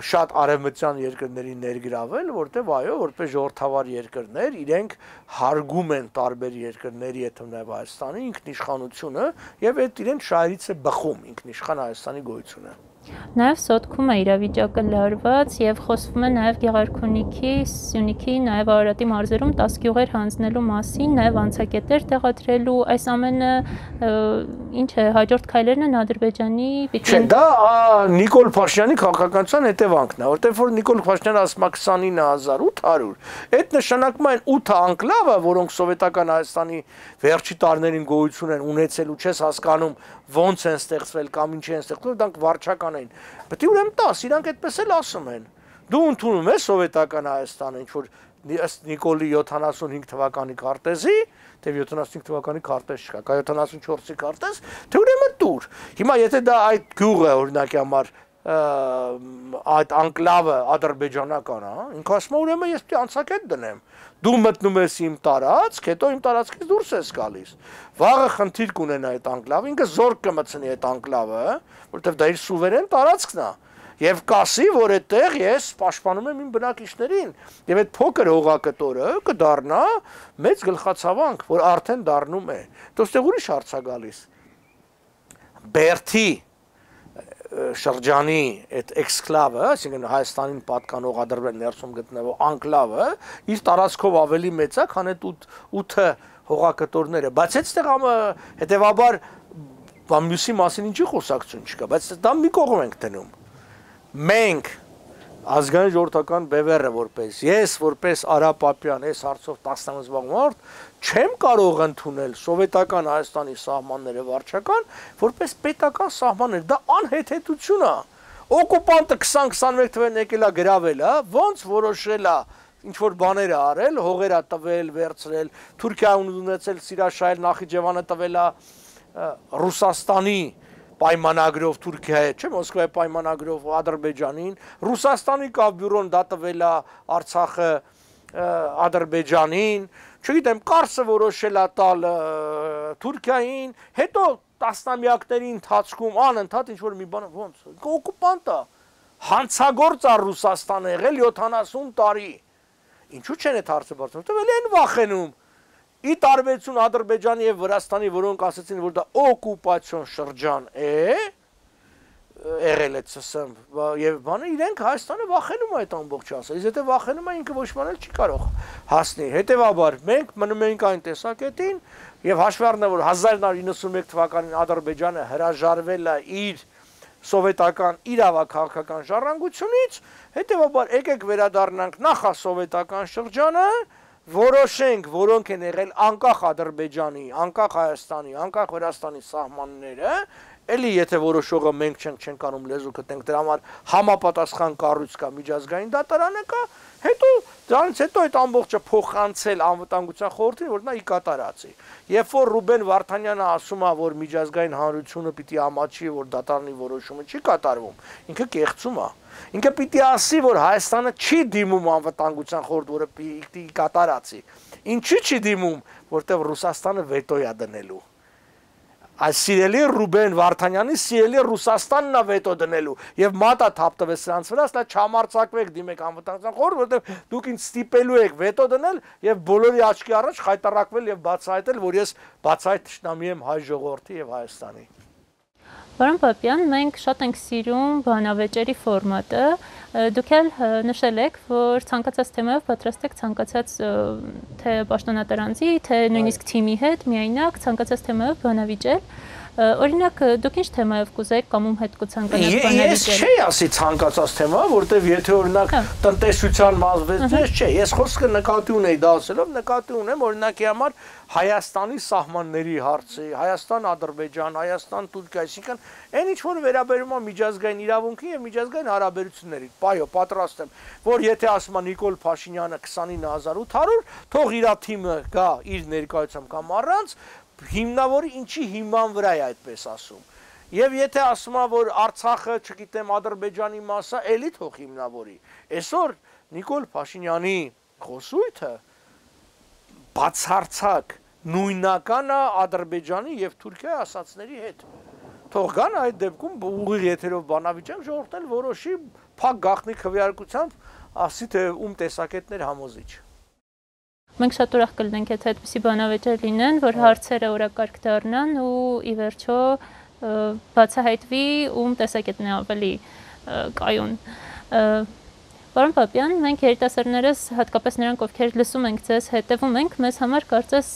շատ արևմտյան երկրների ներգրավել, որտեղ այո, որպես ժողովրդավար երկրներ իրենք հարգում են տարբեր երկրների, եթե նաև Հայաստանի ինքնիշխանությունը եւ այդ իրենց շահերից է բխում ինքնիշխան Հայաստանի գոյությունը։
Նաև Սոտքում է իրավիճակը լարված եւ խոսվում է նաև Գեղարքունիքի, Սյունիքի, նաև Արարատի մարզերում 10 գյուղեր հանձնելու մասին, նաև անցակետեր տեղադրելու, այս ամենը ինչ է, հաջորդ քայլերն են Ադրբեջանի պիտի։
Չէ, դա Նիկոլ Փաշինյանի քաղաքականության հետևանքն է, որտեղ որ Նիկոլ Փաշինյանը ասում է 29800, այդ նշանակում է 8 անկլավը, որոնք սովետական Հայաստանի վերջի տարիներին գոյություն են ունեցել ու չես հասկանում ոնց են ստեղծվել կամ ինչ են ստեղծվել, դրանք վարչական են։ Պետք է ուրեմն տաս, իրանք այդպես էլ ասում են։ Դու ընդունում ես սովետական Հայաստանը, ինչ որ ըստ Նիկոլի 75 թվականի քարտեզի, թե 75 թվականի քարտեզ չկա, կա 74-ի քարտեզ, թե ուրեմն տուր։ Հիմա եթե դա այդ գյուղը օրինակի համար այդ անկլավը ադրբեջանական է, ինքը ասում է ուրեմն ես պետք է անցակետ դնեմ։ Դու մտնում ես իմ տարածք, հետո իմ տարածքից դուրս ես գալիս։ Վաղը խնդիր կունենա այդ անկլավը, ինքը զորք կմցնի այդ անկլավը, որովհետև դա իր սուվերեն տարածքն է։ Եվ կասի, որ այդտեղ ես պաշտպանում եմ իմ բնակիչներին, եւ այդ փոքր հողակտորը կդառնա մեծ գլխացավանք, որ արդեն դառնում է։ Դոստեղ ուրիշ հարց է գալիս։ Բերթի շրջանի այդ էքսկլավը, այսինքն Հայաստանին պատկանող Ադրբեջանի ներսում գտնվող անկլավը, իր տարածքով ավելի մեծ է, քան այդ 8 հողակտորները, բայց այդտեղ հետեւաբար մյուսի մասին ինչի խոսակցություն չկա, բայց դա մի կողմ ենք դնում։ Մենք ազգային ժողովրդական բևեռը որպես ես որպես Արա Պապյան այս հարցով 10 ամիս զբաղված չեմ կարող ընդունել սովետական Հայաստանի սահմանները վարչական որպես պետական սահմաններ, դա անհեթեթություն է։ Օկուպանտը 20-21 թվականին եկել է գրավել, ոնց որոշել է ինչ որ բաներ արել, հողեր է տվել, վերցրել, Թուրքիան ունեցել Սիրաշահել Նախիջևանը տվել է Ռուսաստանի պայմանագրով Թուրքիայի, չէ՞, Մոսկվայի պայմանագրով Ադրբեջանին, Ռուսաստանի կավ բյուրոն դա տվել է Արցախը Ադրբեջանին, չգիտեմ, Կարսը որոշել է տալ Թուրքիային, հետո տասնամյակների ընթացքում անընդհատ ինչ որ մի բան ոնց օկուպանտ է, հանցագործ է Ռուսաստանը եղել 70 տարի։ Ինչու չեն այդ հարցը բարձրացնում, էլ են վախենում։ Ի տարբերություն Ադրբեջանի եւ Վրաստանի, որոնք ասացին, որ դա օկուպացիոն շրջան է, եղել է ՑՍՄ եւ բանը, իրենք Հայաստանը վախենում է այդ ամբողջ ասել։ Իսկ եթե վախենում է, ինքը ոչ բանել չի կարող հասնի։ Հետեւաբար մենք մնում ենք այն տեսակետին եւ հաշվի առնելով, որ 1991 թվականին Ադրբեջանը հրաժարվել է իր սովետական իրավաքաղաքական ժառանգությունից, հետեւաբար եկեք վերադառնանք նախասովետական շրջանը, որոշենք, որոնք են եղել անկախ Ադրբեջանի, անկախ Հայաստանի, անկախ Վրաստանի սահմանները, էլի եթե որոշողը մենք չենք կանում լեզու գտնենք, դրա համար համապատասխան կառույց կա, միջազգային դատարանը կա, հետո դրանից հետո այդ ամբողջը փոխանցել անվտանգության խորհրդին, որ նա ի կատարածի։ Երբ որ Ռուբեն Վարդանյանը ասում է, որ միջազգային հանրությունը պիտի ամաչի, որ դատարանի որոշումը չի կատարվում, ինքը կեղծում է։ Ինքը պիտի ասի, որ Հայաստանը չի դիմում անվտանգության խորհուրդ, որը պիտի կատարածի։ Ինչի չի դիմում, որտեղ Ռուսաստանը վետո է դնելու։ Այս սիրելի Ռուբեն Վարդանյանի սիրելի Ռուսաստանն է վետո դնելու եւ մատա թափտվեց սրանց վրա, ասա չհամարցակվեք դիմեք անվտանգության խորհուրդ, որտեղ դուք ինձ ստիպելու եք վետո դնել եւ բոլորի աչքի առաջ խայտարակվել եւ բացահայտել, որ ես բացահայտ թշնամի եմ հայ ժողովրդի եւ Հայաստանի։
Պարոն Պապյան, մենք շատ ենք սիրում բանավեճերի ֆորմատը, դուք էլ նշել եք, որ ցանկացած թեմայով պատրաստ եք ցանկացած թե պաշտոնատարանձի, թե նույնիսկ թիմի հետ միայնակ ցանկացած թեմայով բանավիճել, օրինակ դուք ինչ թեմայով կուզեք կամ ում հետ կցանկանաք բանավիճել։ Ես չի ասի ցանկացած թեմա, որտեվ եթե օրինակ տնտեսության մասվեծես չէ, ես խոսքը նկատի ունեի դա ասելով, նկատի ունեմ օրինակի համար Հայաստանի սահմանների հարցը, Հայաստան-Ադրբեջան, Հայաստան-Թուրքիա, այսինքն այն ինչ որ վերաբերում է միջազգային իրավունքին եւ միջազգային հարաբերություններին, պայո պատրաստ եմ, որ եթե ասում է Նիկոլ Փաշինյանը 29800, թող իր թիմը գա իր ներկայությամբ կամ առանց, հիմնավորի ինչի հիման վրա է այդպես ասում։ Եվ եթե ասում է, որ Արցախը, չգիտեմ, Ադրբեջանի մաս է, էլի թող հիմնավորի։ Այսօր Նիկոլ Փաշինյանի խոսույթը բացարձակ նույնական է Ադրբեջանի եւ Թուրքիայի ասածների հետ։ Թող գան այդ դեպքում ուղիղ եթերով բանավիճեն ժողովրդն որոշի փակ գաղտնի քվեարկությամբ, ասի թե ում տեսակետներ համոզիչ։ Մենք շատ ուրախ կլինենք, եթե այդպիսի բանավեճեր լինեն, որ հարցերը օրակարգ դառնան ու ի վերջո բացահայտվի ում տեսակետն է ավելի կայուն։ Պարոն Պապյան, մենք երիտասարդներս, հատկապես նրանք, ովքեր լսում ենք ձեզ, հետևում ենք, մեզ համար կարծես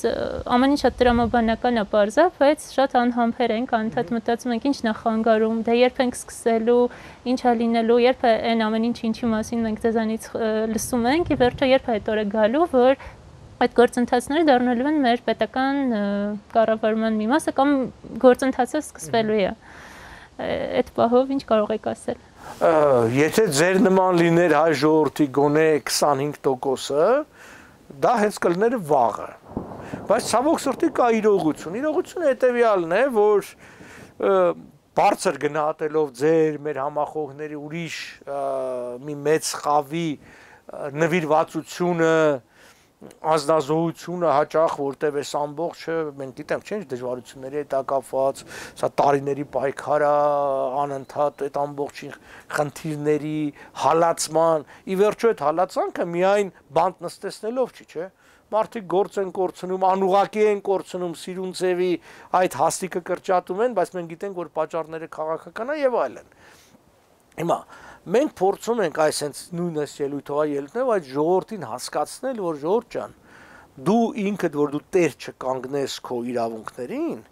ամեն ինչ շատ տրամաբանական է պարզա, բայց շատ անհամբեր ենք, անընդհատ մտածում ենք ինչ նախանգարում, դե երբ ենք սկսելու, ինչ է լինելու, երբ է այն ամեն ինչ ինչի մասին մենք ձեզանից լսում ենք, ի վերջո երբ է այդ օրը գալու, որ այդ գործընթացները դառնալու են մեր պետական կառավարման մի մասը կամ գործընթացը սկսվելու է։ Այդ պահով ինչ կարող եք ասել։
Եթե ձեր նման լիներ հայ ժողովրդի գոնե 25%-ը, դա հենց կլներ վաղը։ Բայց ցավոք սրտի կա իրողություն։ Իրողությունը հետևյալն է, որ բարձր գնահատելով ձեր մեր համախոհների ուրիշ մի մեծ խավի նվիրվածությունը անձնազոհությունը հաճախ որտեվ էս ամբողջը մենք գիտենք չէ՞ դժվարությունների հետ կապված, սա տարիների պայքար է, անընդհատ այդ ամբողջի խնդիրների հալածման, ի վերջո այդ հալածանքը միայն բանտ նստեցնելով չի, չէ՞։ Մարդիկ գործ են կորցնում, անուղակի են կորցնում, սիրուն ձևի այդ հաստիկը կրճատում են, բայց մենք գիտենք, որ պատճառները քաղաքական է եւ այլն։ Հիմա մենք փորձում ենք այսենց նույնս ելույթով ելնել, այդ ժողովրդին հասկացնել, որ ժողովուրդ ջան, դու ինքդ որ դու տեր չկանգնես քո իրավունքներին,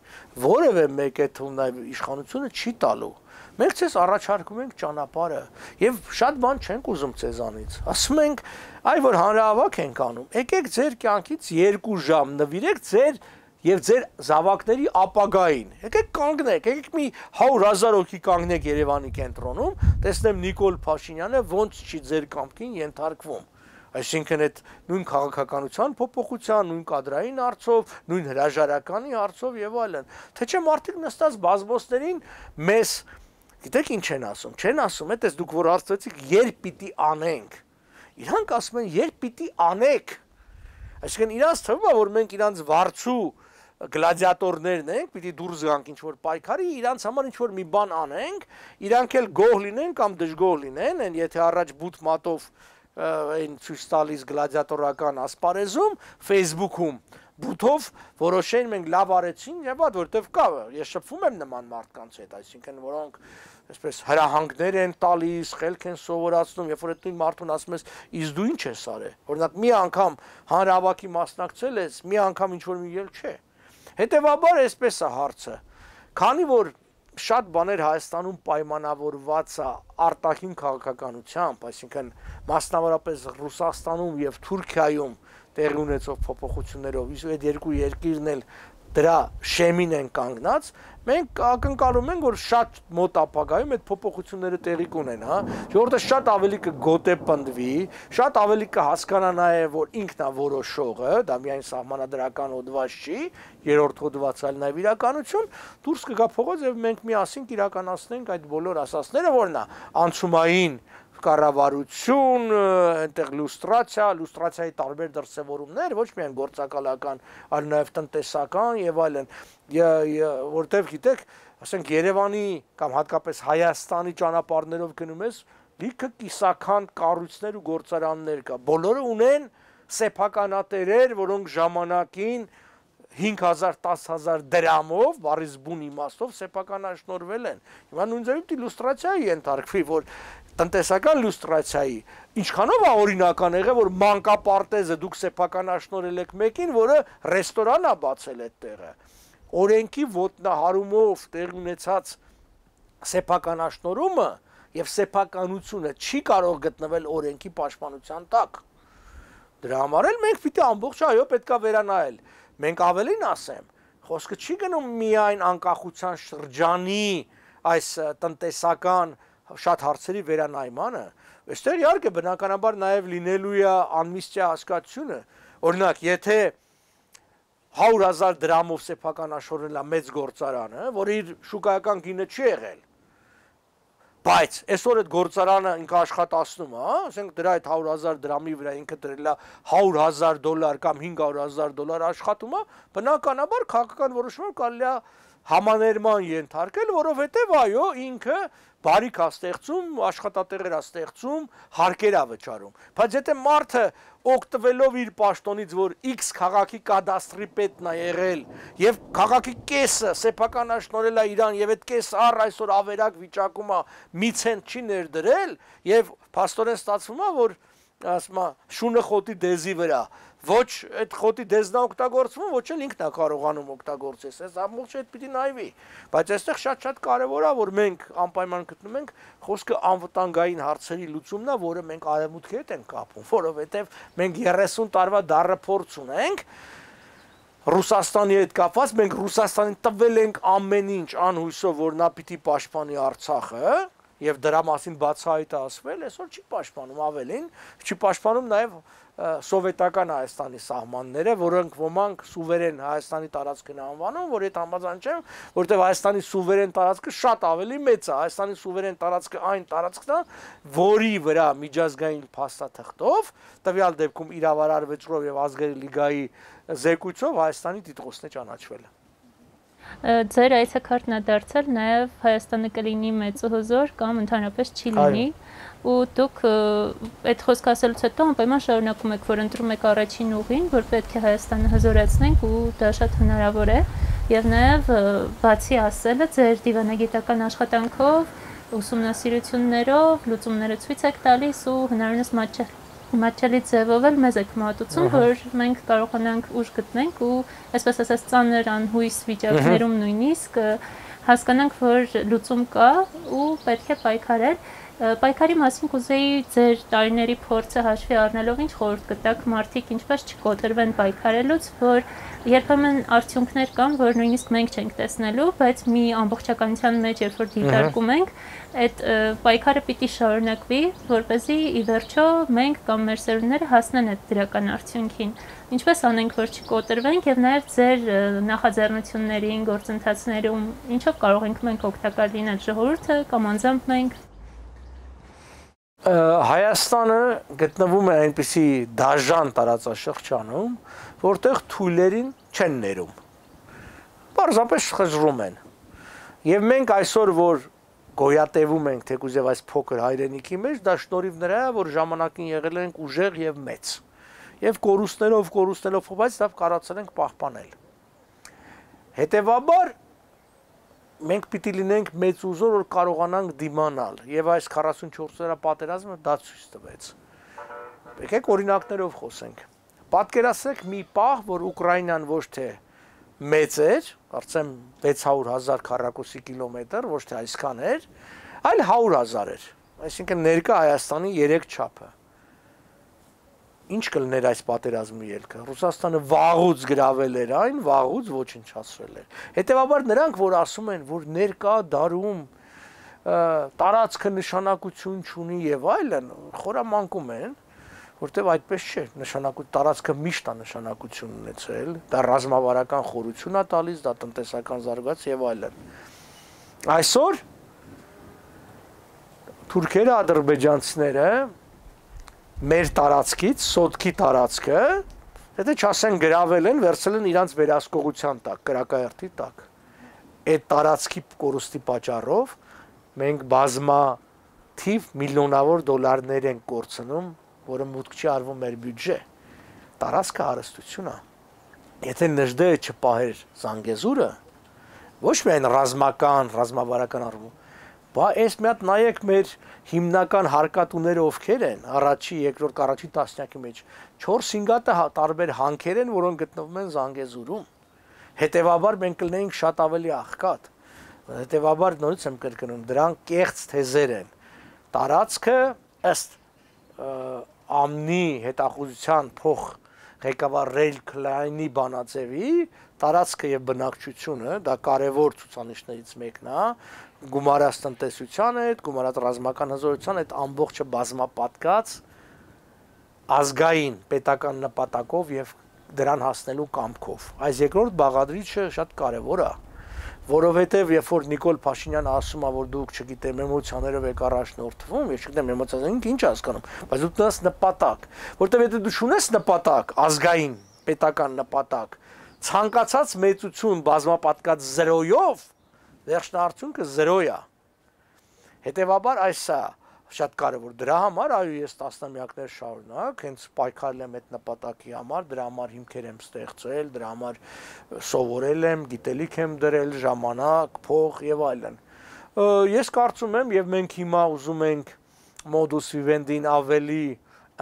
որևէ մեկը թվում նաև իշխանությունը չի տալու։ Մենք ցես առաջարկում ենք ճանապարհը եւ շատ բան չենք ուզում ցեզանից։ Ասում ենք, այ որ հանրահավաք ենք անում, եկեք ձեր կյանքից 2 ժամ նվիրեք ձեր եւ ձեր զավակների ապագային։ Եկեք կանգնեք, եկեք մի 100,000 հոգի կանգնեք Երևանի կենտրոնում, տեսնեմ Նիկոլ Փաշինյանը ոնց չի ձեր կամքին ենթարկվում։ Այսինքն այդ նույն քաղաքականության փոփոխության, նույն կադրային հարցով, նույն հրաժարականի հարցով եւ այլն։ Թե չէ մարդիկ նստած բազմոցներին մեզ գիտեք ինչ են ասում։ Չեն ասում, այդպես դուք որ հարցրեցիք, երբ պիտի անենք։ Իրանք ասում են, երբ պիտի անեք։ Այսինքն իրանց թվում է, որ մենք իրանց վարձու գլադիատորներն ենք, պիտի դուրս գանք ինչ-որ պայքարի, իրանց համար ինչ-որ մի բան անենք, իրանք էլ գոհ լինեն կամ դժգոհ լինեն, են եթե առաջ բութ մատով այն ցույց տալիս գլադիատորական ասպարեզում, Facebook-ում բութով որոշեն մենք լավ արեցին եւ այդ որտեվ կա, ես շփվում եմ նման մարդկանց հետ, այսինքն որոնք այսպես հրահանգներ են տալիս, խելք են սովորացնում, երբ որ այդ նույն մարդուն ասում ես, իսկ դու ինչ ես արել։ Օրինակ մի անգամ հանրահավաքի մասնակցել ես, մի անգամ ինչ-որ մի ել չէ։ Հետևաբար այսպես է հարցը, քանի որ շատ բաներ Հայաստանում պայմանավորված է արտաքին քաղաքականությամբ, այսինքն մասնավորապես Ռուսաստանում եւ Թուրքիայում տեղի ունեցող փոփոխություններով, իսկ այդ երկու երկիրն էլ դրա շեմին են կանգնած, մենք ակնկալում ենք, որ շատ մոտ ապագայում այդ փոփոխությունները տեղի կունեն, հա, ժողովուրդը շատ ավելի կգոտեպնդվի, շատ ավելի կհասկանա նաև, որ ինքն է որոշողը, դա միայն սահմանադրական հոդված չի, երրորդ հոդվածը այլ նաև իրականություն, դուրս կգա փողոց եւ մենք միասին կիրականացնենք այդ բոլոր ասացները, որն է անցումային կառավարություն, այնտեղ լուստրացիայի տարբեր դրսևորումներ, ոչ միայն գործակալական, այլ նաև տնտեսական եւ այլն, որտեվ գիտեք, ասենք Երևանի կամ հատկապես Հայաստանի ճանապարհներով գնում ես, լիքը կիսական կառույցներ ու գործարաններ կա, բոլորը ունեն սեփականատերեր, որոնք ժամանակին 5,000-10,000 դրամով, բառից բուն իմաստով սեփականաշնորհվել են։ Հիմա նույն ձևի լուստրացիայի ենթարկվի, որ տնտեսական լուստրացիայի ինչքանով է օրինական եղել, որ մանկապարտեզը դուք սեփականաշնորհել եք մեկին, որը ռեստորան է բացել այդ տեղը։ Օրենքի ոտնահարումով տեղ ունեցած սեփականաշնորհումը եւ սեփականությունը չի կարող գտնվել օրենքի պաշտպանության տակ։ Դրա համար էլ մենք պիտի ամբողջ այո պետքա վերանայել։ Մենք ավելին ասեմ, խոսքը չի գնում միայն անկախության շրջանի այս տնտեսական շատ հարցերի վերանայմանը, այստեղ իհարկե բնականաբար նաև լինելու է ամնիստիա հասկացությունը, օրինակ, եթե 100,000 դրամով սեփականաշորել է մեծ գործարանը, որ իր շուկայական գինը չի եղել, բայց այսօր այդ գործարանը ինքը աշխատացնում է, ասենք դրա այդ 100,000 դրամի վրա ինքը դրել է $100,000 կամ $500,000 աշխատում է, բնականաբար քաղաքական որոշումը կարելի է համաներման ենթարկել, որովհետև այո, ինքը բարիք է ստեղծում, աշխատատեղեր է ստեղծում, հարկեր է վճարում։ Բայց եթե մարդը օգտվելով իր պաշտոնից, որ X քաղաքի կադաստրի պետն է եղել, եւ քաղաքի կեսը սեփականաշնորհել է իրան, եւ այդ կեսը առ այսօր ավերակ վիճակում է, մի ցենտ չի ներդրել, եւ փաստորեն ստացվում է, որ ասում է շունը խոտի դեզի վրա, ոչ այդ խոտի դեզն է օգտագործվում, ոչ էլ ինքն է կարողանում օգտագործել, այս ամբողջը այդ պիտի նայվի, բայց այստեղ շատ կարևոր է, որ մենք անպայման գտնում ենք խոսքը անվտանգային հարցերի լուծումն է, որը մենք արևմուտքի հետ ենք կապում, որովհետև մենք 30 տարվա դառը փորձ ունենք Ռուսաստանի հետ կապված, մենք Ռուսաստանին տվել ենք ամեն ինչ անհույսով, որ նա պիտի պաշտպանի Արցախը, եւ դրա մասին բացահայտ ասվել, այսօր չի պաշտպանում, ավելին, չի պաշտպանում նաեւ սովետական Հայաստանի սահմանները, որոնք ոմանք սուվերեն Հայաստանի տարածքն անվանում, որ այդ համաձայն չեմ, որտեղ Հայաստանի սուվերեն տարածքը շատ ավելի մեծ է, Հայաստանի սուվերեն տարածքը այն տարածքն է, որի վրա միջազգային փաստաթղթով, տվյալ դեպքում իրավարար վճռով եւ ազգերի լիգայի զեկույցով Հայաստանի տիտղոսն է ճանաչվել։
Ձեր այցեքարտն է դարձել նաև Հայաստանը կլինի մեծ ու հզոր կամ ընդհանրապես չի լինի ու դուք այդ խոսքը ասելուց հետո անպայման շարունակում եք, որ ընտրում եք առաջին ուղին, որ պետք է Հայաստանը հզորացնենք ու դա շատ հնարավոր է եւ նաև բացի ասելը ձեր դիվանագիտական աշխատանքով, ուսումնասիրություններով, լուծումները ցույց եք տալիս ու հնարավորինս մատչելի ձևով էլ մեզ եք մատուցում, որ մենք կարողանանք ուժ գտնենք ու այսպես ասած ծանր անհույս վիճակներում նույնիսկ հասկանանք, որ լուծում կա ու պետք է պայքարել։ Պայքարի մասին կուզեի ձեր տարիների փորձը հաշվի առնելով ինչ խորհուրդ կտաք մարդիկ ինչպես չկոտրվեն պայքարելուց, որ երբեմն արդյունքներ կան, որ նույնիսկ մենք չենք տեսնելու, բայց մի ամբողջականության մեջ երբ որ դիտարկում ենք, այդ պայքարը պիտի շարունակվի, որպեսզի ի վերջո մենք կամ մեր սերունդները հասնեն այդ դրական արդյունքին։ Ինչպես անենք, որ չկոտրվենք եւ նաեւ ձեր նախաձեռնություններին, գործընթացներում ինչով կարող ենք մենք օգտակար լինել, ժողովուրդը կամ անձամբ մենք։
Հայաստանը գտնվում է այնպիսի դաժան տարածաշրջանում, որտեղ թույլերին չեն ներում։ Պարզապես խժռում են։ Եվ մենք այսօր, որ գոյատևում ենք թեկուզ եւ այս փոքր հայրենիքի մեջ, դա շնորհիվ նրա, որ ժամանակին եղել ենք ուժեղ եւ մեծ։ Եվ կորուստներով, բայց դա կարողացել ենք պահպանել։ Հետևաբար մենք պիտի լինենք մեծ ուժով, որ կարողանանք դիմանալ, եւ այս 44-օրյա պատերազմը դա ցույց տվեց։ Եկեք օրինակներով խոսենք։ Պատկերացրեք մի պահ, որ Ուկրաինան ոչ թե մեծ էր, կարծեմ 600,000 քառակուսի կիլոմետր, ոչ թե այսքան էր, այլ 100,000 էր։ Այսինքն ներկա Հայաստանի 3 չափը։ Ինչ կլներ այս պատերազմի ելքը։ Ռուսաստանը վաղուց գրավել էր այն, վաղուց ոչնչացրել էր։ Հետևաբար նրանք, որ ասում են, որ ներկա դարում տարածքը նշանակություն չունի եւ այլն, խորամանկում են, որտեւ այդպես չէ, տարածքը միշտ է նշանակություն ունեցել, դա ռազմավարական խորություն է տալիս, դա տնտեսական զարգացում եւ այլն։ Այսօր թուրքերը, ադրբեջանցիները մեր տարածքից, սոտքի տարածքը, եթե չասեն գրավել են, վերցել են իրանց վերահսկողության տակ, կրակայրթի տակ։ Այդ տարածքի կորուստի պատճառով մենք բազմաթիվ միլիոնավոր դոլարներ ենք կորցնում, որը մուտք չի արվում մեր բյուջե։ Տարածքը հարստություն է։ Եթե Նժդեհը չպահեր Զանգեզուրը, ոչ միայն ռազմավարական առումով, բայց այս մի հատ նայեք մեր հիմնական հարկատուները ովքեր են, առաջի, երկրորդ, առաջի տասնյակի մեջ 4-5 հատ տարբեր հանքեր են, որոնք գտնվում են Զանգեզուրում։ Հետևաբար մենք կլինենք շատ ավելի աղքատ։ Հետևաբար նորից եմ կրկնում, դրանք կեղծ թեզեր են։ Տարածքը ըստ ԱՄՆ հետախուզության փոխ ղեկավար Ռեյլ Քլայնի բանաձևի տարածքը եւ բնակչությունը դա կարևոր ցուցանիշներից մեկն է, գումարած տնտեսության հետ, գումարած ռազմական հզորության հետ ամբողջը բազմապատկած ազգային պետական նպատակով եւ դրան հասնելու կամքով։ Այս երկրորդ բաղադրիչը շատ կարևոր է, որովհետեւ երբ որ Նիկոլ Փաշինյանը ասում է, որ դուք չգիտեմ էմոցիաներով եք առաջնորդվում, ես չգիտեմ էմոցիաներով ինչ հասկանում, բայց դու տես նպատակ, որտեւ եթե դու ունես նպատակ, ազգային պետական նպատակ, ցանկացած մեծություն բազմապատկած 0-ով, վերջնարդյունքը 0 է։ Հետևաբար այս է շատ կարևոր։ Դրա համար այո ես տասնամյակներ շարունակ հենց պայքարել եմ այդ նպատակի համար, դրա համար հիմքեր եմ ստեղծել, դրա համար սովորել եմ, գիտելիք եմ դրել, ժամանակ, փող եւ այլն։ Ես կարծում եմ եւ մենք հիմա ուզում ենք modus vivendi-ին ավելի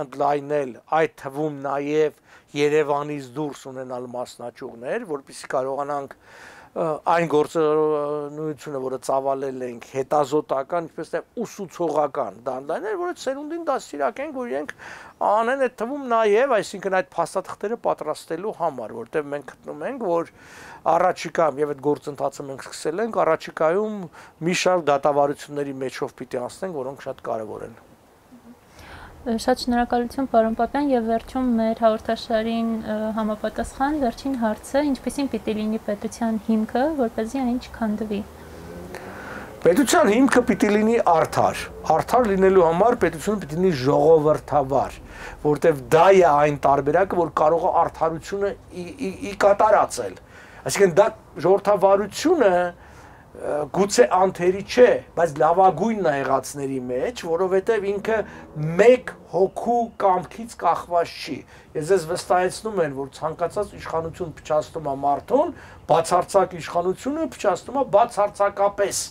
ընդլայնել, այդ թվում նաեւ Երևանից դուրս ունենալ մասնաճյուղներ, որպեսզի կարողանանք այն գործունեությունը, որը ծավալել ենք, հետազոտական, ինչպես թե ուսուցողական դանդաղներ, որը սերունդին դաստիարակենք, որ իրենք անեն այդ թվում նաև, այսինքն այդ փաստաթղթերը պատրաստելու համար, որտեղ մենք գտնում ենք, որ առաջիկայում եւ այդ գործընթացը մենք սկսել ենք, առաջիկայում մի շարք դատավարությունների մեջով պիտի անցնենք, որոնք շատ կարեւոր են։
Շատ շնորհակալություն պարոն Պապյան եւ վերջում մեր հաղորդաշարին համապատասխան վերջին հարցը ինչպեսին պիտի լինի պետության հիմքը, որպեսզի այն չքանդվի։
Պետության հիմքը պիտի լինի արդար։ Արդար լինելու համար պետությունը պիտի լինի ժողովրդավար, որտեղ դա է այն տարբերակը, որ կարող է արդարությունը ի կատարածել։ Այսինքն դա ժողովրդավարությունը գուցե անթերի չէ, բայց լավագույնն է եղածների մեջ, որովհետև ինքը մեկ հոգու կամքից կախված չի։ Ես ես վստահեցնում եմ, որ ցանկացած իշխանություն փչացնում է մարդուն, բացարձակ իշխանությունը փչացնում է բացարձակապես։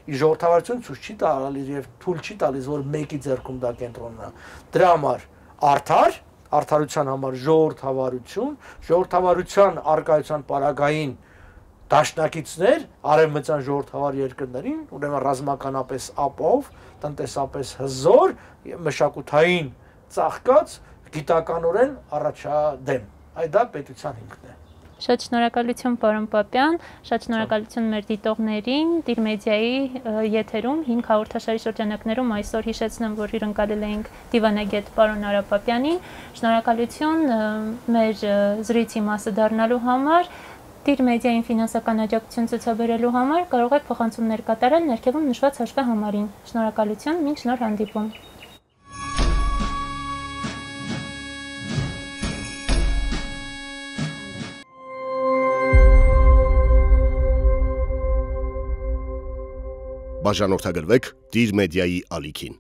Ժողովրդավարությունը ցույց չի տալիս եւ թույլ չի տալիս, որ մեկի ձեռքում դա կենտրոնանա։ Դրա համար արդար, արդարության համար ժողովրդավարության արկայության պարագային դաշնակիցներ արևմտյան ժողովրդավար երկրներին, ուրեմն ռազմականապես ապով, տնտեսապես հզոր, մշակութային ծաղկած, գիտականորեն առաջադեմ։ Այդ դա պետության հիմքն է։
Շատ շնորհակալություն պարոն Պապյան, շատ շնորհակալություն մեր դիտողներին, Դիր մեդիայի եթերում 5 հաղորդաշարի շրջանակներում այսօր հիշեցնեմ, որ հյուրընկալել էինք դիվանագետ պարոն Արա Պապյանին, շնորհակալություն մեր զրույցի մասը դառնալու համար, Դիր մեդիային ֆինանսական աջակցություն ցուցաբերելու համար կարող եք փոխանցումներ կատարել ներքևում նշված հաշվահամարին։ Շնորհակալություն, մինչ նոր հանդիպում։
Բաժանորդագրվեք Դիր մեդիայի ալիքին։